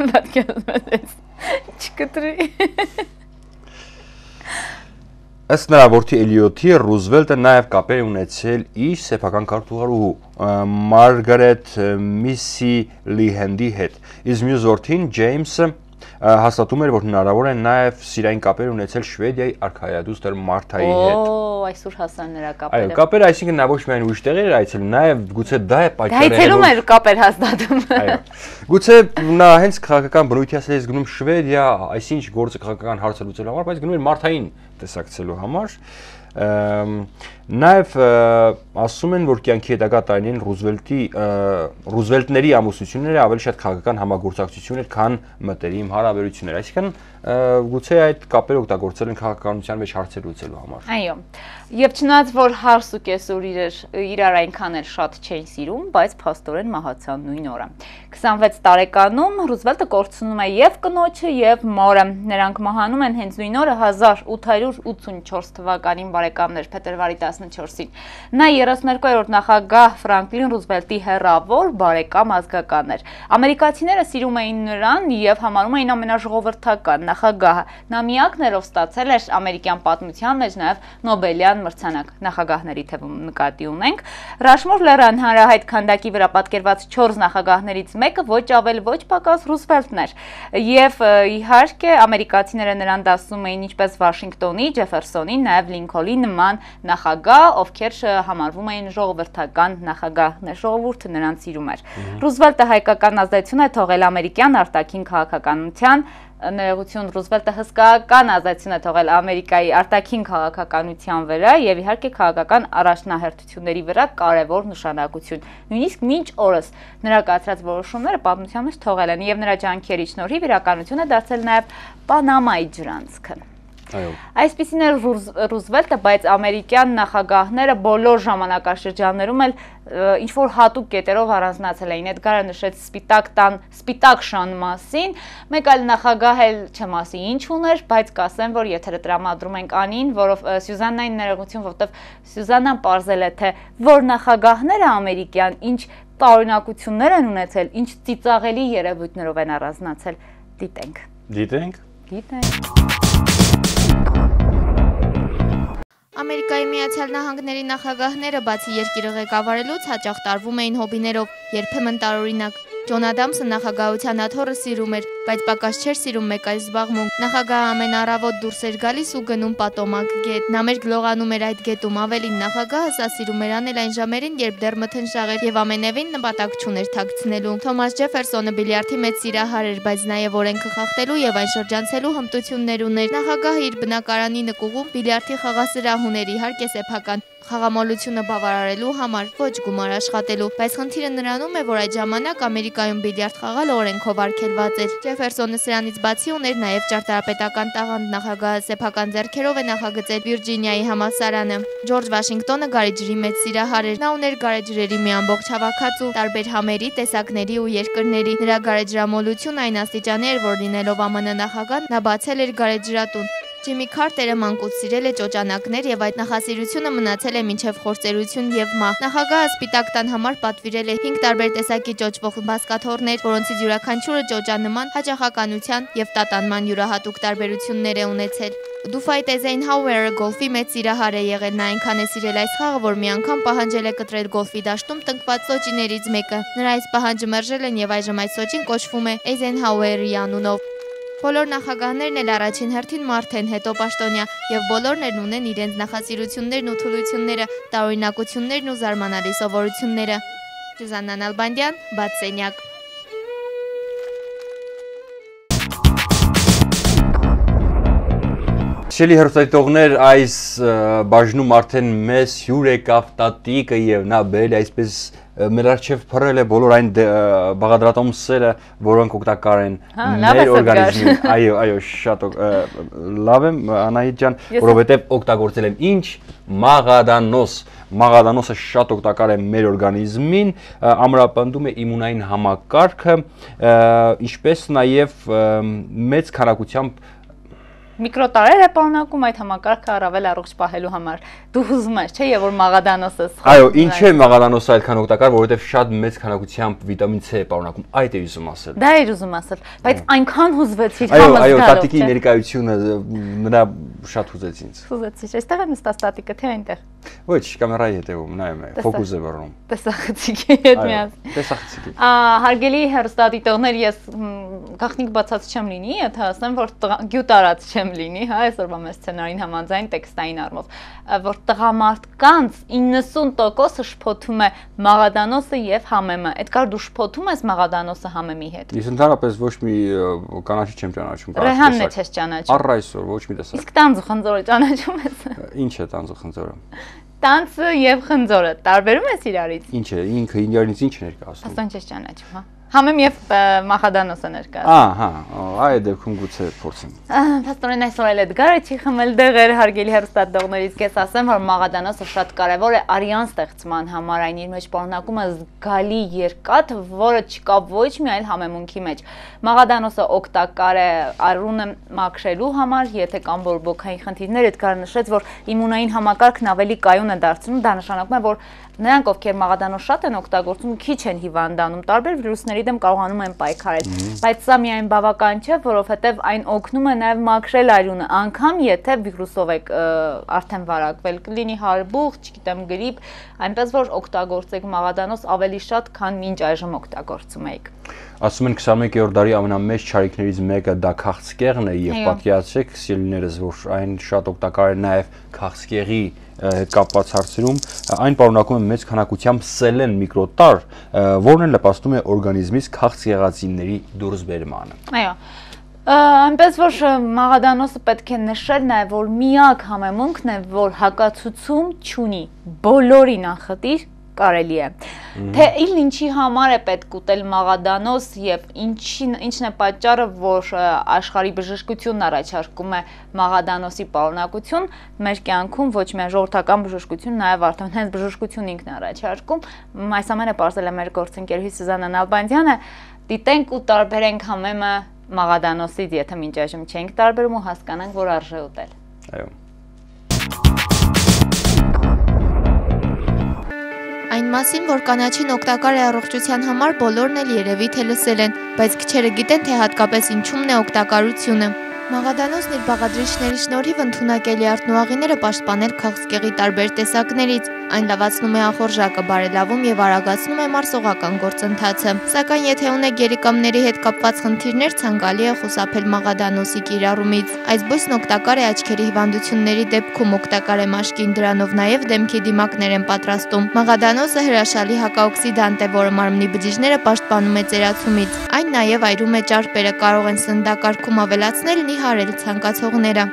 Պատկերացնես։ Չկտրի։ Ըստ նրա որդի Էլիոթի, Ռուզվելտը նաև կապեր է ունեցել իր սեփական քարտուղարուհու Մարգարետ Միսի Լիհենդի հետ։ Իսկ մյուս որդին Ջեյմսը հաստատում էր, որ հնարավոր է նաև սիրային կապեր ունեցել Շվեդիայի արքայադուստր Մարթայի հետ։ Օ, այսօր հասան նրա կապերը։ Այո, կապերը, այսինքն նա ոչ միայն ուրիշ տեղեր էր այցելում, նաև գուցե դա է պատճառը։ Հայցելում էր կապեր հաստատում։ Այո։ Գուցե նա հենց քաղաքական բնույթի ասելիս գնում Շվեդիա, այսինչ գործը քաղաքական հարցը լուծելու համար, բայց գնում էր Մարթային տեսակցելու համար։ Նաև ասում են, որ կյանքի հետագա տարիներին Ռուզվելտի Ռուզվելտների ամուսնությունները ավելի շատ քաղաքական համագործակցություն էր, քան մտերիմ հարաբերություններ, այսինքն գուցե այդ կապերը օգտագործել են քաղաքականության մեջ հարցեր լուծելու համար։ Այո։ Եվ չնայած որ հարս ու կեսուր իրար այնքան էլ շատ չէին սիրում, բայց փաստորեն մահացան նույն օրը։ քսանվեց տարեկանում Ռուզվելտը կորցնում է եւ կնոջը եւ մորը։ Նրանք մահանում են հենց նույն օրը հազար ութ հարյուր ութսունչորս թվականին, բարեկամներ, փետրվարի տասնչորսին։ Նա երեսուններկուերորդ նախագահ Ֆրանկլին Ռուզվելտի հեռավոր բարեկամ ազգական էր։ Ամերիկացիները սիրում էին նրան եւ համարում էին ամենաժողովրդական նախագահը։ Նա միակն էր, ով ստացել էր ամերիկյան պատմության մեջ նաեւ Նոբելյան մրցանակ, նախագահների թվում նկատի ունենք։ Ռաշմոր լեռան հանրահայտ քանդակի վրա պատկերված չորս նախագահներից մեկը ոչ ավել ոչ պակաս Ռուզվելտն էր։ Եվ իհարկե ամերիկացիները նրան դասում էին ինչպես Վաշինգտոնի, Ջեֆերսոնի, նաև Լինքոլնի նման նախագահ, ովքեր համարվում էին ժողովրդական նախագահներ, ժողովուրդը նրան սիրում էր։ Ռուզվելտը հայկական ազդեցություն է թողել ամերիկյան արտաքին քաղաքականության, ներողություն, Ռուզվելտը հսկայական ազդեցություն է թողել Ամերիկայի արտաքին քաղաքականության վրա եւ իհարկե քաղաքական առաջնահերթությունների վրա կարևոր նշանակություն։ Նույնիսկ մինչ օրս նրա կայացրած որոշումները պատմության մեջ թողել են եւ նրա ջանքերի շնորհիվ իրականություն է դարձել նաեւ Պանամայի ջրանցքը։ Այսպիսին էր Ռուզվելտը, բայց ամերիկյան նախագահները բոլոր ժամանակաշրջաններում էլ ինչ-որ հատուկ կետերով առանձնացել էին։ Էդգարը նշեց սպիտակ տան, սպիտակ շան մասին, մեկ այլ նախագահ էլ չեմ ասի ինչ ուներ, բայց կասեմ, որ եթերը տրամադրում ենք Անին, որով Սյուզաննային ներողություն, որովհետև Սյուզաննան պարզել է, թե որ նախագահները ամերիկյան ինչ տարօրինակություններ են ունեցել, ինչ ծիծաղելի երևույթներով են առանձնացել։ Դիտենք։ Դիտենք։ Դիտենք։ Ամերիկայի Միացյալ Նահանգների նախագահները բացի երկիրը ղեկավարելուց հաճախ տարվում էին հոբիներով, երբեմն տարօրինակ։ Ջոն Ադամսը նախագահության աթոռը սիրում էր, բայց պակաս չէր սիրում մեկ այլ զբաղմունք։ Նախագահը ամեն առավոտ դուրս էր գալիս ու գնում պատոմակ գետ։ Նա մեր գլողանում էր այդ գետում, ավելին նախագահը սա սիրում էր անել այն ժամերին, երբ դեռ մթնշաղ էր եւ ամենևին նպատակ չուներ թաքցնելու։ Թոմաս Ջեֆերսոնը բիլիարդի մեծ սիրահար էր, բայց նաեւ օրենքը խախտելու եւ այն շրջանցելու հմտություններ ուներ։ Նախագահը իր բնակարանի նկուղում բիլիարդի խաղասրահ ուներ, իհարկե սեփական խաղամոլությունը բավարարելու համար, ոչ գումար աշխատելու, բայց խնդիրը նրանում է, որ այդ ժամանակ Ամերիկայում բիլիարդ խաղալ օրենքով արգելված էր։ Ջեֆերսոնը սրանից բացի ուներ նաև ճարտարապետական տաղանդ, նախագահը սեփական ձեռքերով է նախագծել Վիրջինիայի համալսարանը։ Ջորջ Վաշինգտոնը գարեջրի մեծ սիրահար էր։ Նա ուներ գարեջրերի մի ամբողջ հավաքածու, տարբեր համերի, տեսակների ու երկրների։ Նրա գարեջրամոլությունը այն աստիճանի էր, որ լինելով ԱՄՆ նախագահ, նա բացել էր գարեջրատուն։ Ջիմի Քարտերը մանկուց սիրել է ճոճանակներ եւ այդ նախասիրությունը մնացել է մինչեւ խորձերություն եւ մահ։ Նախագահը սպիտակ տան համար պատվիրել է հինգ տարբեր տեսակի ճոճվող բազկաթոռներ, որոնցից յուրաքանչյուրը ճոճանման, հաճախականության եւ տատանման յուրահատուկ տարբերություններ է ունեցել։ Դուֆայտ Էյզենհաուերը գոլֆի մեծ սիրահար է եղել, նա այնքան է սիրել այս խաղը, որ մի անգամ պահանջել է կտրել գոլֆի դաշտում տնկված սոճիներից մեկը։ Նրա այս պահանջը մերժել են եւ այժմ այս սոճին կոչվում է Էյզենհաուերի անունով։ Բոլոր նախագահներն էլ առաջին հերթին մարդ են, հետո պաշտոնյա, եւ բոլորն էլ ունեն իրենց նախասիրություններն ու թուլությունները, տարօրինակություններն ու զարմանալի սովորությունները։ Սյուզաննա Նալբանդյան, Բաց սենյակ։ Շելի հերոստատիտողներ, այս բաժնում արդեն մեզ հյուր եկավ տատիկը եւ նա բերել է այսպես մեր արչեւ փռել է բոլոր այն բաղադրատոմսերը, որոնք օգտակար են մեր օրգանիզմին։ Այո, այո, շատ լավ եմ Անահիտ ջան, որովհետեւ օգտագործել եմ ինչ մաղադանոս։ Մաղադանոսը շատ օգտակար է մեր օրգանիզմին, ամրապնդում է իմունային համակարգը, ինչպես նաեւ մեծ քանակությամբ Միկրոտարեր է պարունակում այդ համակարգը առավել առողջ պահելու համար։ Դու ուզում ես, չէ՞, եւ որ մաղադանոսը։ Այո, ինչ է մաղադանոսը այդքան օգտակար, որովհետեւ շատ մեծ քանակությամբ վիտամին C է պարունակում, այդ է ուզում ասել։ Դա էր ուզում ասել, բայց այնքան հուզվեցիր համը զգալով։ Այո, այո, տատիկի ներկայությունը նրա շատ հուզեց ինձ։ Հուզեցիր, այստեղ է նստած տատիկը, թե այնտեղ։ Ոչ, կամերայի հետևում նայում է, ֆոկուս է վառում։ Տեսախցիկի հետ միասին։ Տեսախցիկի։ Հարգելի հեռուստադիտողներ, ես գաղտնիք բացած չեմ լինի, եթե ասեմ, որ գյուտարած չեմ լինի, հա, այսօրվա մեր սցենարին համաձայն տեքստային առումով, որ տղամարդկանց իննսուն տոկոսը շփոթում է մաղադանոսը եւ համեմը։ Էդգար, դու շփոթում ես մաղադանոսը համեմի հետ։ Ես ընդհանրապես ոչ մի կանաչի չեմ ճանաչում։ Ռեհանն է չես ճանաչում։ Առ այսօր ոչ մի տեսակ։ Իսկ տանձ ու խնձորը ճանաչում ես։ Ինչ է տանձ ու խնձորը։ Տանձը եւ խնձորը տարբերում ես իրարից։ Ինչ է, ինքը իրարից ինչ է ներկայացնում։ Ասեն չես ճանաչում, հա։ Համեմ եւ մախադանոսը ներկայացնում։ Ահա, այդ դեպքում գուցե փորձեմ։ Փաստորեն այսօր էլ Էդգարը չի խմել դեղեր, հարգելի հեռուստադիտողներից կես ասեմ, որ մաղադանոսը շատ կարեւոր է արյան ստեղծման համար, այն իր մեջ պարունակում է զգալի երկաթ, որը չկա ոչ միայն համեմունքի մեջ։ Մաղադանոսը օգտակար է արյունը մաքրելու համար, եթե կան բորբոքային խնդիրներ, Էդգարը նշեց, որ իմունային համակարգն ավելի կայուն է դարձնում, դա նշանակում է, որ նրանք, ովքեր մաղադանոս շատ են օգտագործում, քիչ են հիվանդանում, տարբեր վիրուսների դեմ կարողանում են պայքարել, բայց սա միայն բավական չէ, որովհետև այն օգնում է նաև մաքրել արյունը, անգամ եթե վիրուսով եք արդեն վարակվել, կլինի հարբուխ, չգիտեմ, գրիպ, այնպես որ օգտագործեք մաղադանոս ավելի շատ, քան մինչ այժմ օգտագործում եք։ Ասում են քսանմեկերորդ դարի ամենամեծ չարիքներից մեկը դա քաղցկեղն է եւ պատկերացրեք սիրելիներս, որ այն շատ օգտակար է նաեւ քաղցկեղի հետ կապված հարցերում, այն պարունակում է մեծ քանակությամբ սելեն միկրոտար, որն էլ նպաստում է օրգանիզմից քաղցկեղածինների դուրսբերմանը։ Այո։ Այնպես որ մաղադանոսը պետք է նշել նաև, որ միակ համեմունքն է, որ հակացուցում չունի, բոլորի նախտիր կարելի է։ Թե իլ ինչի համար է պետք ուտել մաղադանոս եւ ինչն է պատճառը, որ աշխարհի բժշկությունն առաջարկում է մաղադանոսի պարունակություն, մեր կյանքում ոչ միայն ժողովրդական բժշկություն, նաեւ արդեն հենց բժշկություն ինքն է առաջարկում։ Այս ամենը պարզել է մեր գործընկերուհի Սուզաննա Նալբանդյանը։ Դիտենք ու տարբերենք համեմը մաղադանոսից, եթե մինչ այժմ չենք տարբերում ու հասկանանք, որ արժե ուտել։ Այո։ Այն մասին, որ կանաչին օգտակար է առողջության համար, բոլորն էլ երևի թե լսել են, բայց քչերը գիտեն, թե հատկապես ինչումն է օգտակարությունը։ Մաղադանոսն իր բաղադրիչների շնորհիվ ընդունակելի արտնուաղիները պաշտպանել քաղցկեղի տարբեր տեսակներից, այն լավացնում է ախորժակը, բարելավում եւ արագացնում է մարսողական գործընթացը։ Սակայն եթե ունեք երիկամների հետ կապված խնդիրներ, ցանկալի է խուսափել մաղադանոսի կիրառումից։ Այս բույսն օգտակար է աչքերի հիվանդությունների դեպքում, օգտակար է մաշկին, դրանով նաեւ դեմքի դիմակներ են պատրաստում։ Մաղադանոսը հրաշալի հակաօքսիդանտ է, որը մարմնի բջիջները պաշտպանում է ծերացումից։ Այն նաեւ այրում է ճարպերը, կարող են սննդակարգում ավելացնել, նիհարել ցանկացողները։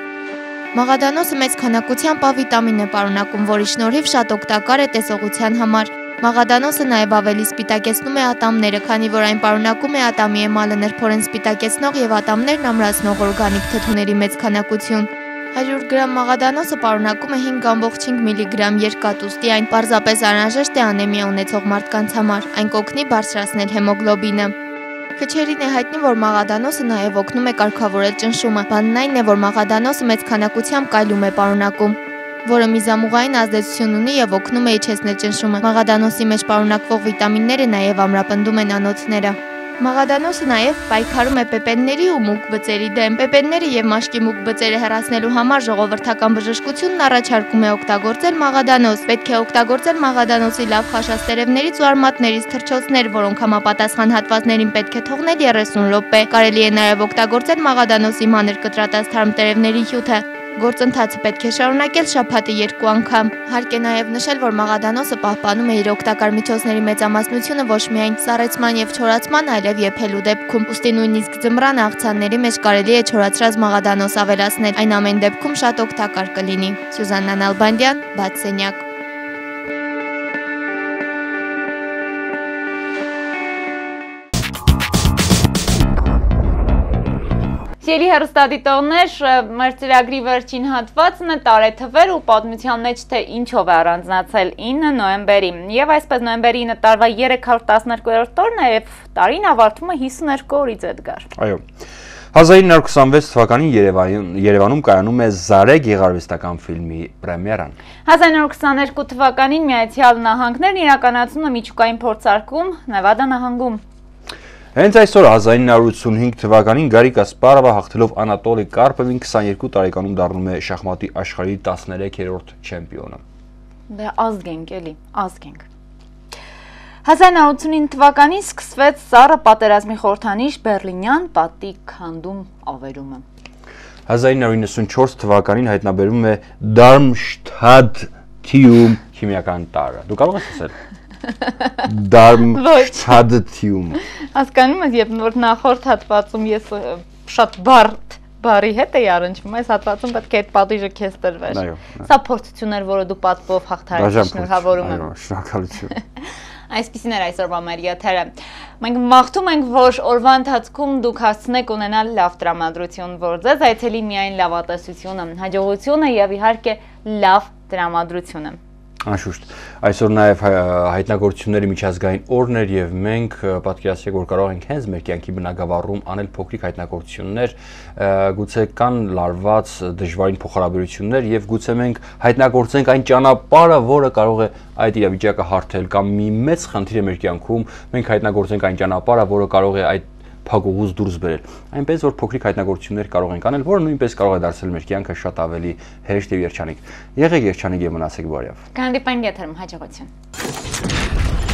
Մաղադանոսը մեծ քանակությամբ A վիտամին է պարունակում, որի շնորհիվ շատ օգտակար է տեսողության համար։ Մաղադանոսը նաև ավելի սպիտակեցնում է ատամները, քանի որ այն պարունակում է ատամի էմալը նրբորեն սպիտակեցնող եւ ատամներն ամրացնող օրգանիկ թթուների մեծ քանակություն։ հարյուր գրամ մաղադանոսը պարունակում է հինգ կόμma հինգ միլիգրամ երկաթ, ուստի այն պարզապես անհրաժեշտ է անեմիա ունեցող մարդկանց համար։ Այն կօգնի բարձրացնել հեմոգլոբինը։ Քչերին է հայտնի, որ մաղադանոսը նաև օգնում է կարգավորել ճնշումը։ Բանն այն է, որ մաղադանոսը մեծ քանակությամբ կալիում է պարունակում, որը միզամուղային ազդեցություն ունի եւ օգնում է իջեցնել ճնշումը։ Մաղադանոսի մեջ պարունակվող վիտամինները նաև ամրապնդում են անոթները։ Մաղադանոսը նաև պայքարում է պեպենների ու մուգ բծերի դեմ։ Պեպենները եւ մաշկի մուգ բծերը հեռացնելու համար ժողովրդական բժշկությունն առաջարկում է օգտագործել մաղադանոս։ Պետք է օգտագործել մաղադանոսի լավ խաշած տերևներից ու արմատներից թռչոցներ, որոնք համապատասխան հատվածներին պետք է թողնել երեսուն րոպե։ Կարելի է նաև օգտագործել մաղադանոսի մանր կտրատած թարմ տերևների հյութը։ Գործընթացը պետք է շարունակել շաբաթը երկու անգամ։ Հարկ է նաև նշել, որ մաղադանոսը պահպանում է իր օգտակար միջոցների մեծամասնությունը ոչ միայն սառեցման եւ չորացման, այլև եփելու դեպքում։ Ուստի նույնիսկ ձմռան աղցանների մեջ կարելի է չորացրած մաղադանոս ավելացնել։ Այն ամեն դեպքում շատ օգտակար կլինի։ Սուզաննա Նալբանդյան, Բաց սենյակ։ Սիրելի հեռուստադիտողներ, մեր ծրագրի վերջին հատվածն է տարեթվեր ու պատմության մեջ թե ինչով է առանձնացել ինը նոյեմբերի։ Եվ այսպես նոյեմբերի ինը տարվա երեք հարյուր տասներկուերորդ օրն է եւ տարին ավարտվում է հիսուներկու օրից, Էդգար։ Այո։ հազար ինը հարյուր քսանվեց թվականին Երևանում կայանում է Զարե գեղարվեստական ֆիլմի պրեմիերան։ հազար ինը հարյուր քսաներկու թվականին Միացյալ Նահանգներն իրականացնում է միջուկային փորձարկում Նևադա նահանգում։ Հենց այսօր հազար ինը հարյուր ութսունհինգ թվականին Գարիկ Կասպարովը հաղթելով Անատոլի Կարպովին քսաներկու տարեկանում դառնում է շախմատի աշխարհի տասներեքերորդ չեմպիոնը։ Դե ազգենք էլի, ազգենք։ հազար ինը հարյուր ութսունինը թվականին սկսվեց Սառը պատերազմի խորհրդանիշ Բեռլինյան պատի քանդում ավերումը։ հազար ինը հարյուր իննսունչորս թվականին հայտնաբերվում է Դարմշտադթիում քիմիական տարրը։ Դու կարող ես ասել։ Դարմշտադթիում։ Հասկանում ես, երբ նոր նախորդ հատվածում ես շատ բարդ բարի հետ էի առնչվում, այս հատվածում պետք է այդ պատիժը քեզ տրվեր։ Սա փորձություն էր, որը դու պատվով հաղթարեցի, շնորհավորում եմ։ Այո, շնորհակալություն։ Այսպիսին էր այսօրվա մեր եթերը։ Մենք մաղթում ենք, որ օրվա ընթացքում դուք հասցնեք ունենալ լավ տրամադրություն, որ ձեզ այցելի միայն լավատեսությունը, հաջողությունը եւ իհարկե լավ տրամադրությունը։ Անշուշտ, այսօր նաև հայտնագործությունների միջազգային օրն էր եւ մենք պատկերացրեք, որ կարող ենք հենց մեր կյանքի բնագավառում անել փոքրիկ հայտնագործություններ, գուցե կան լարված դժվարին փոխհարաբերություններ եւ գուցե մենք հայտնագործենք այն ճանապարհը, որը կարող է այդ իրավիճակը հարթել կամ մի մեծ խնդիր է մեր կյանքում, մենք հայտնագործենք այն ճանապարհը, որը կարող է այդ փակուղուց դուրս բերել։ Այնպես որ փոքրիկ հայտնագործություններ կարող ենք անել, որը նույնպես կարող է դարձնել մեր կյանքը շատ ավելի հեշտ եւ երջանիկ։ Եղեք երջանիկ եւ մնացեք բարյավ։ Կհանդիպենք եթերում, հաջողություն։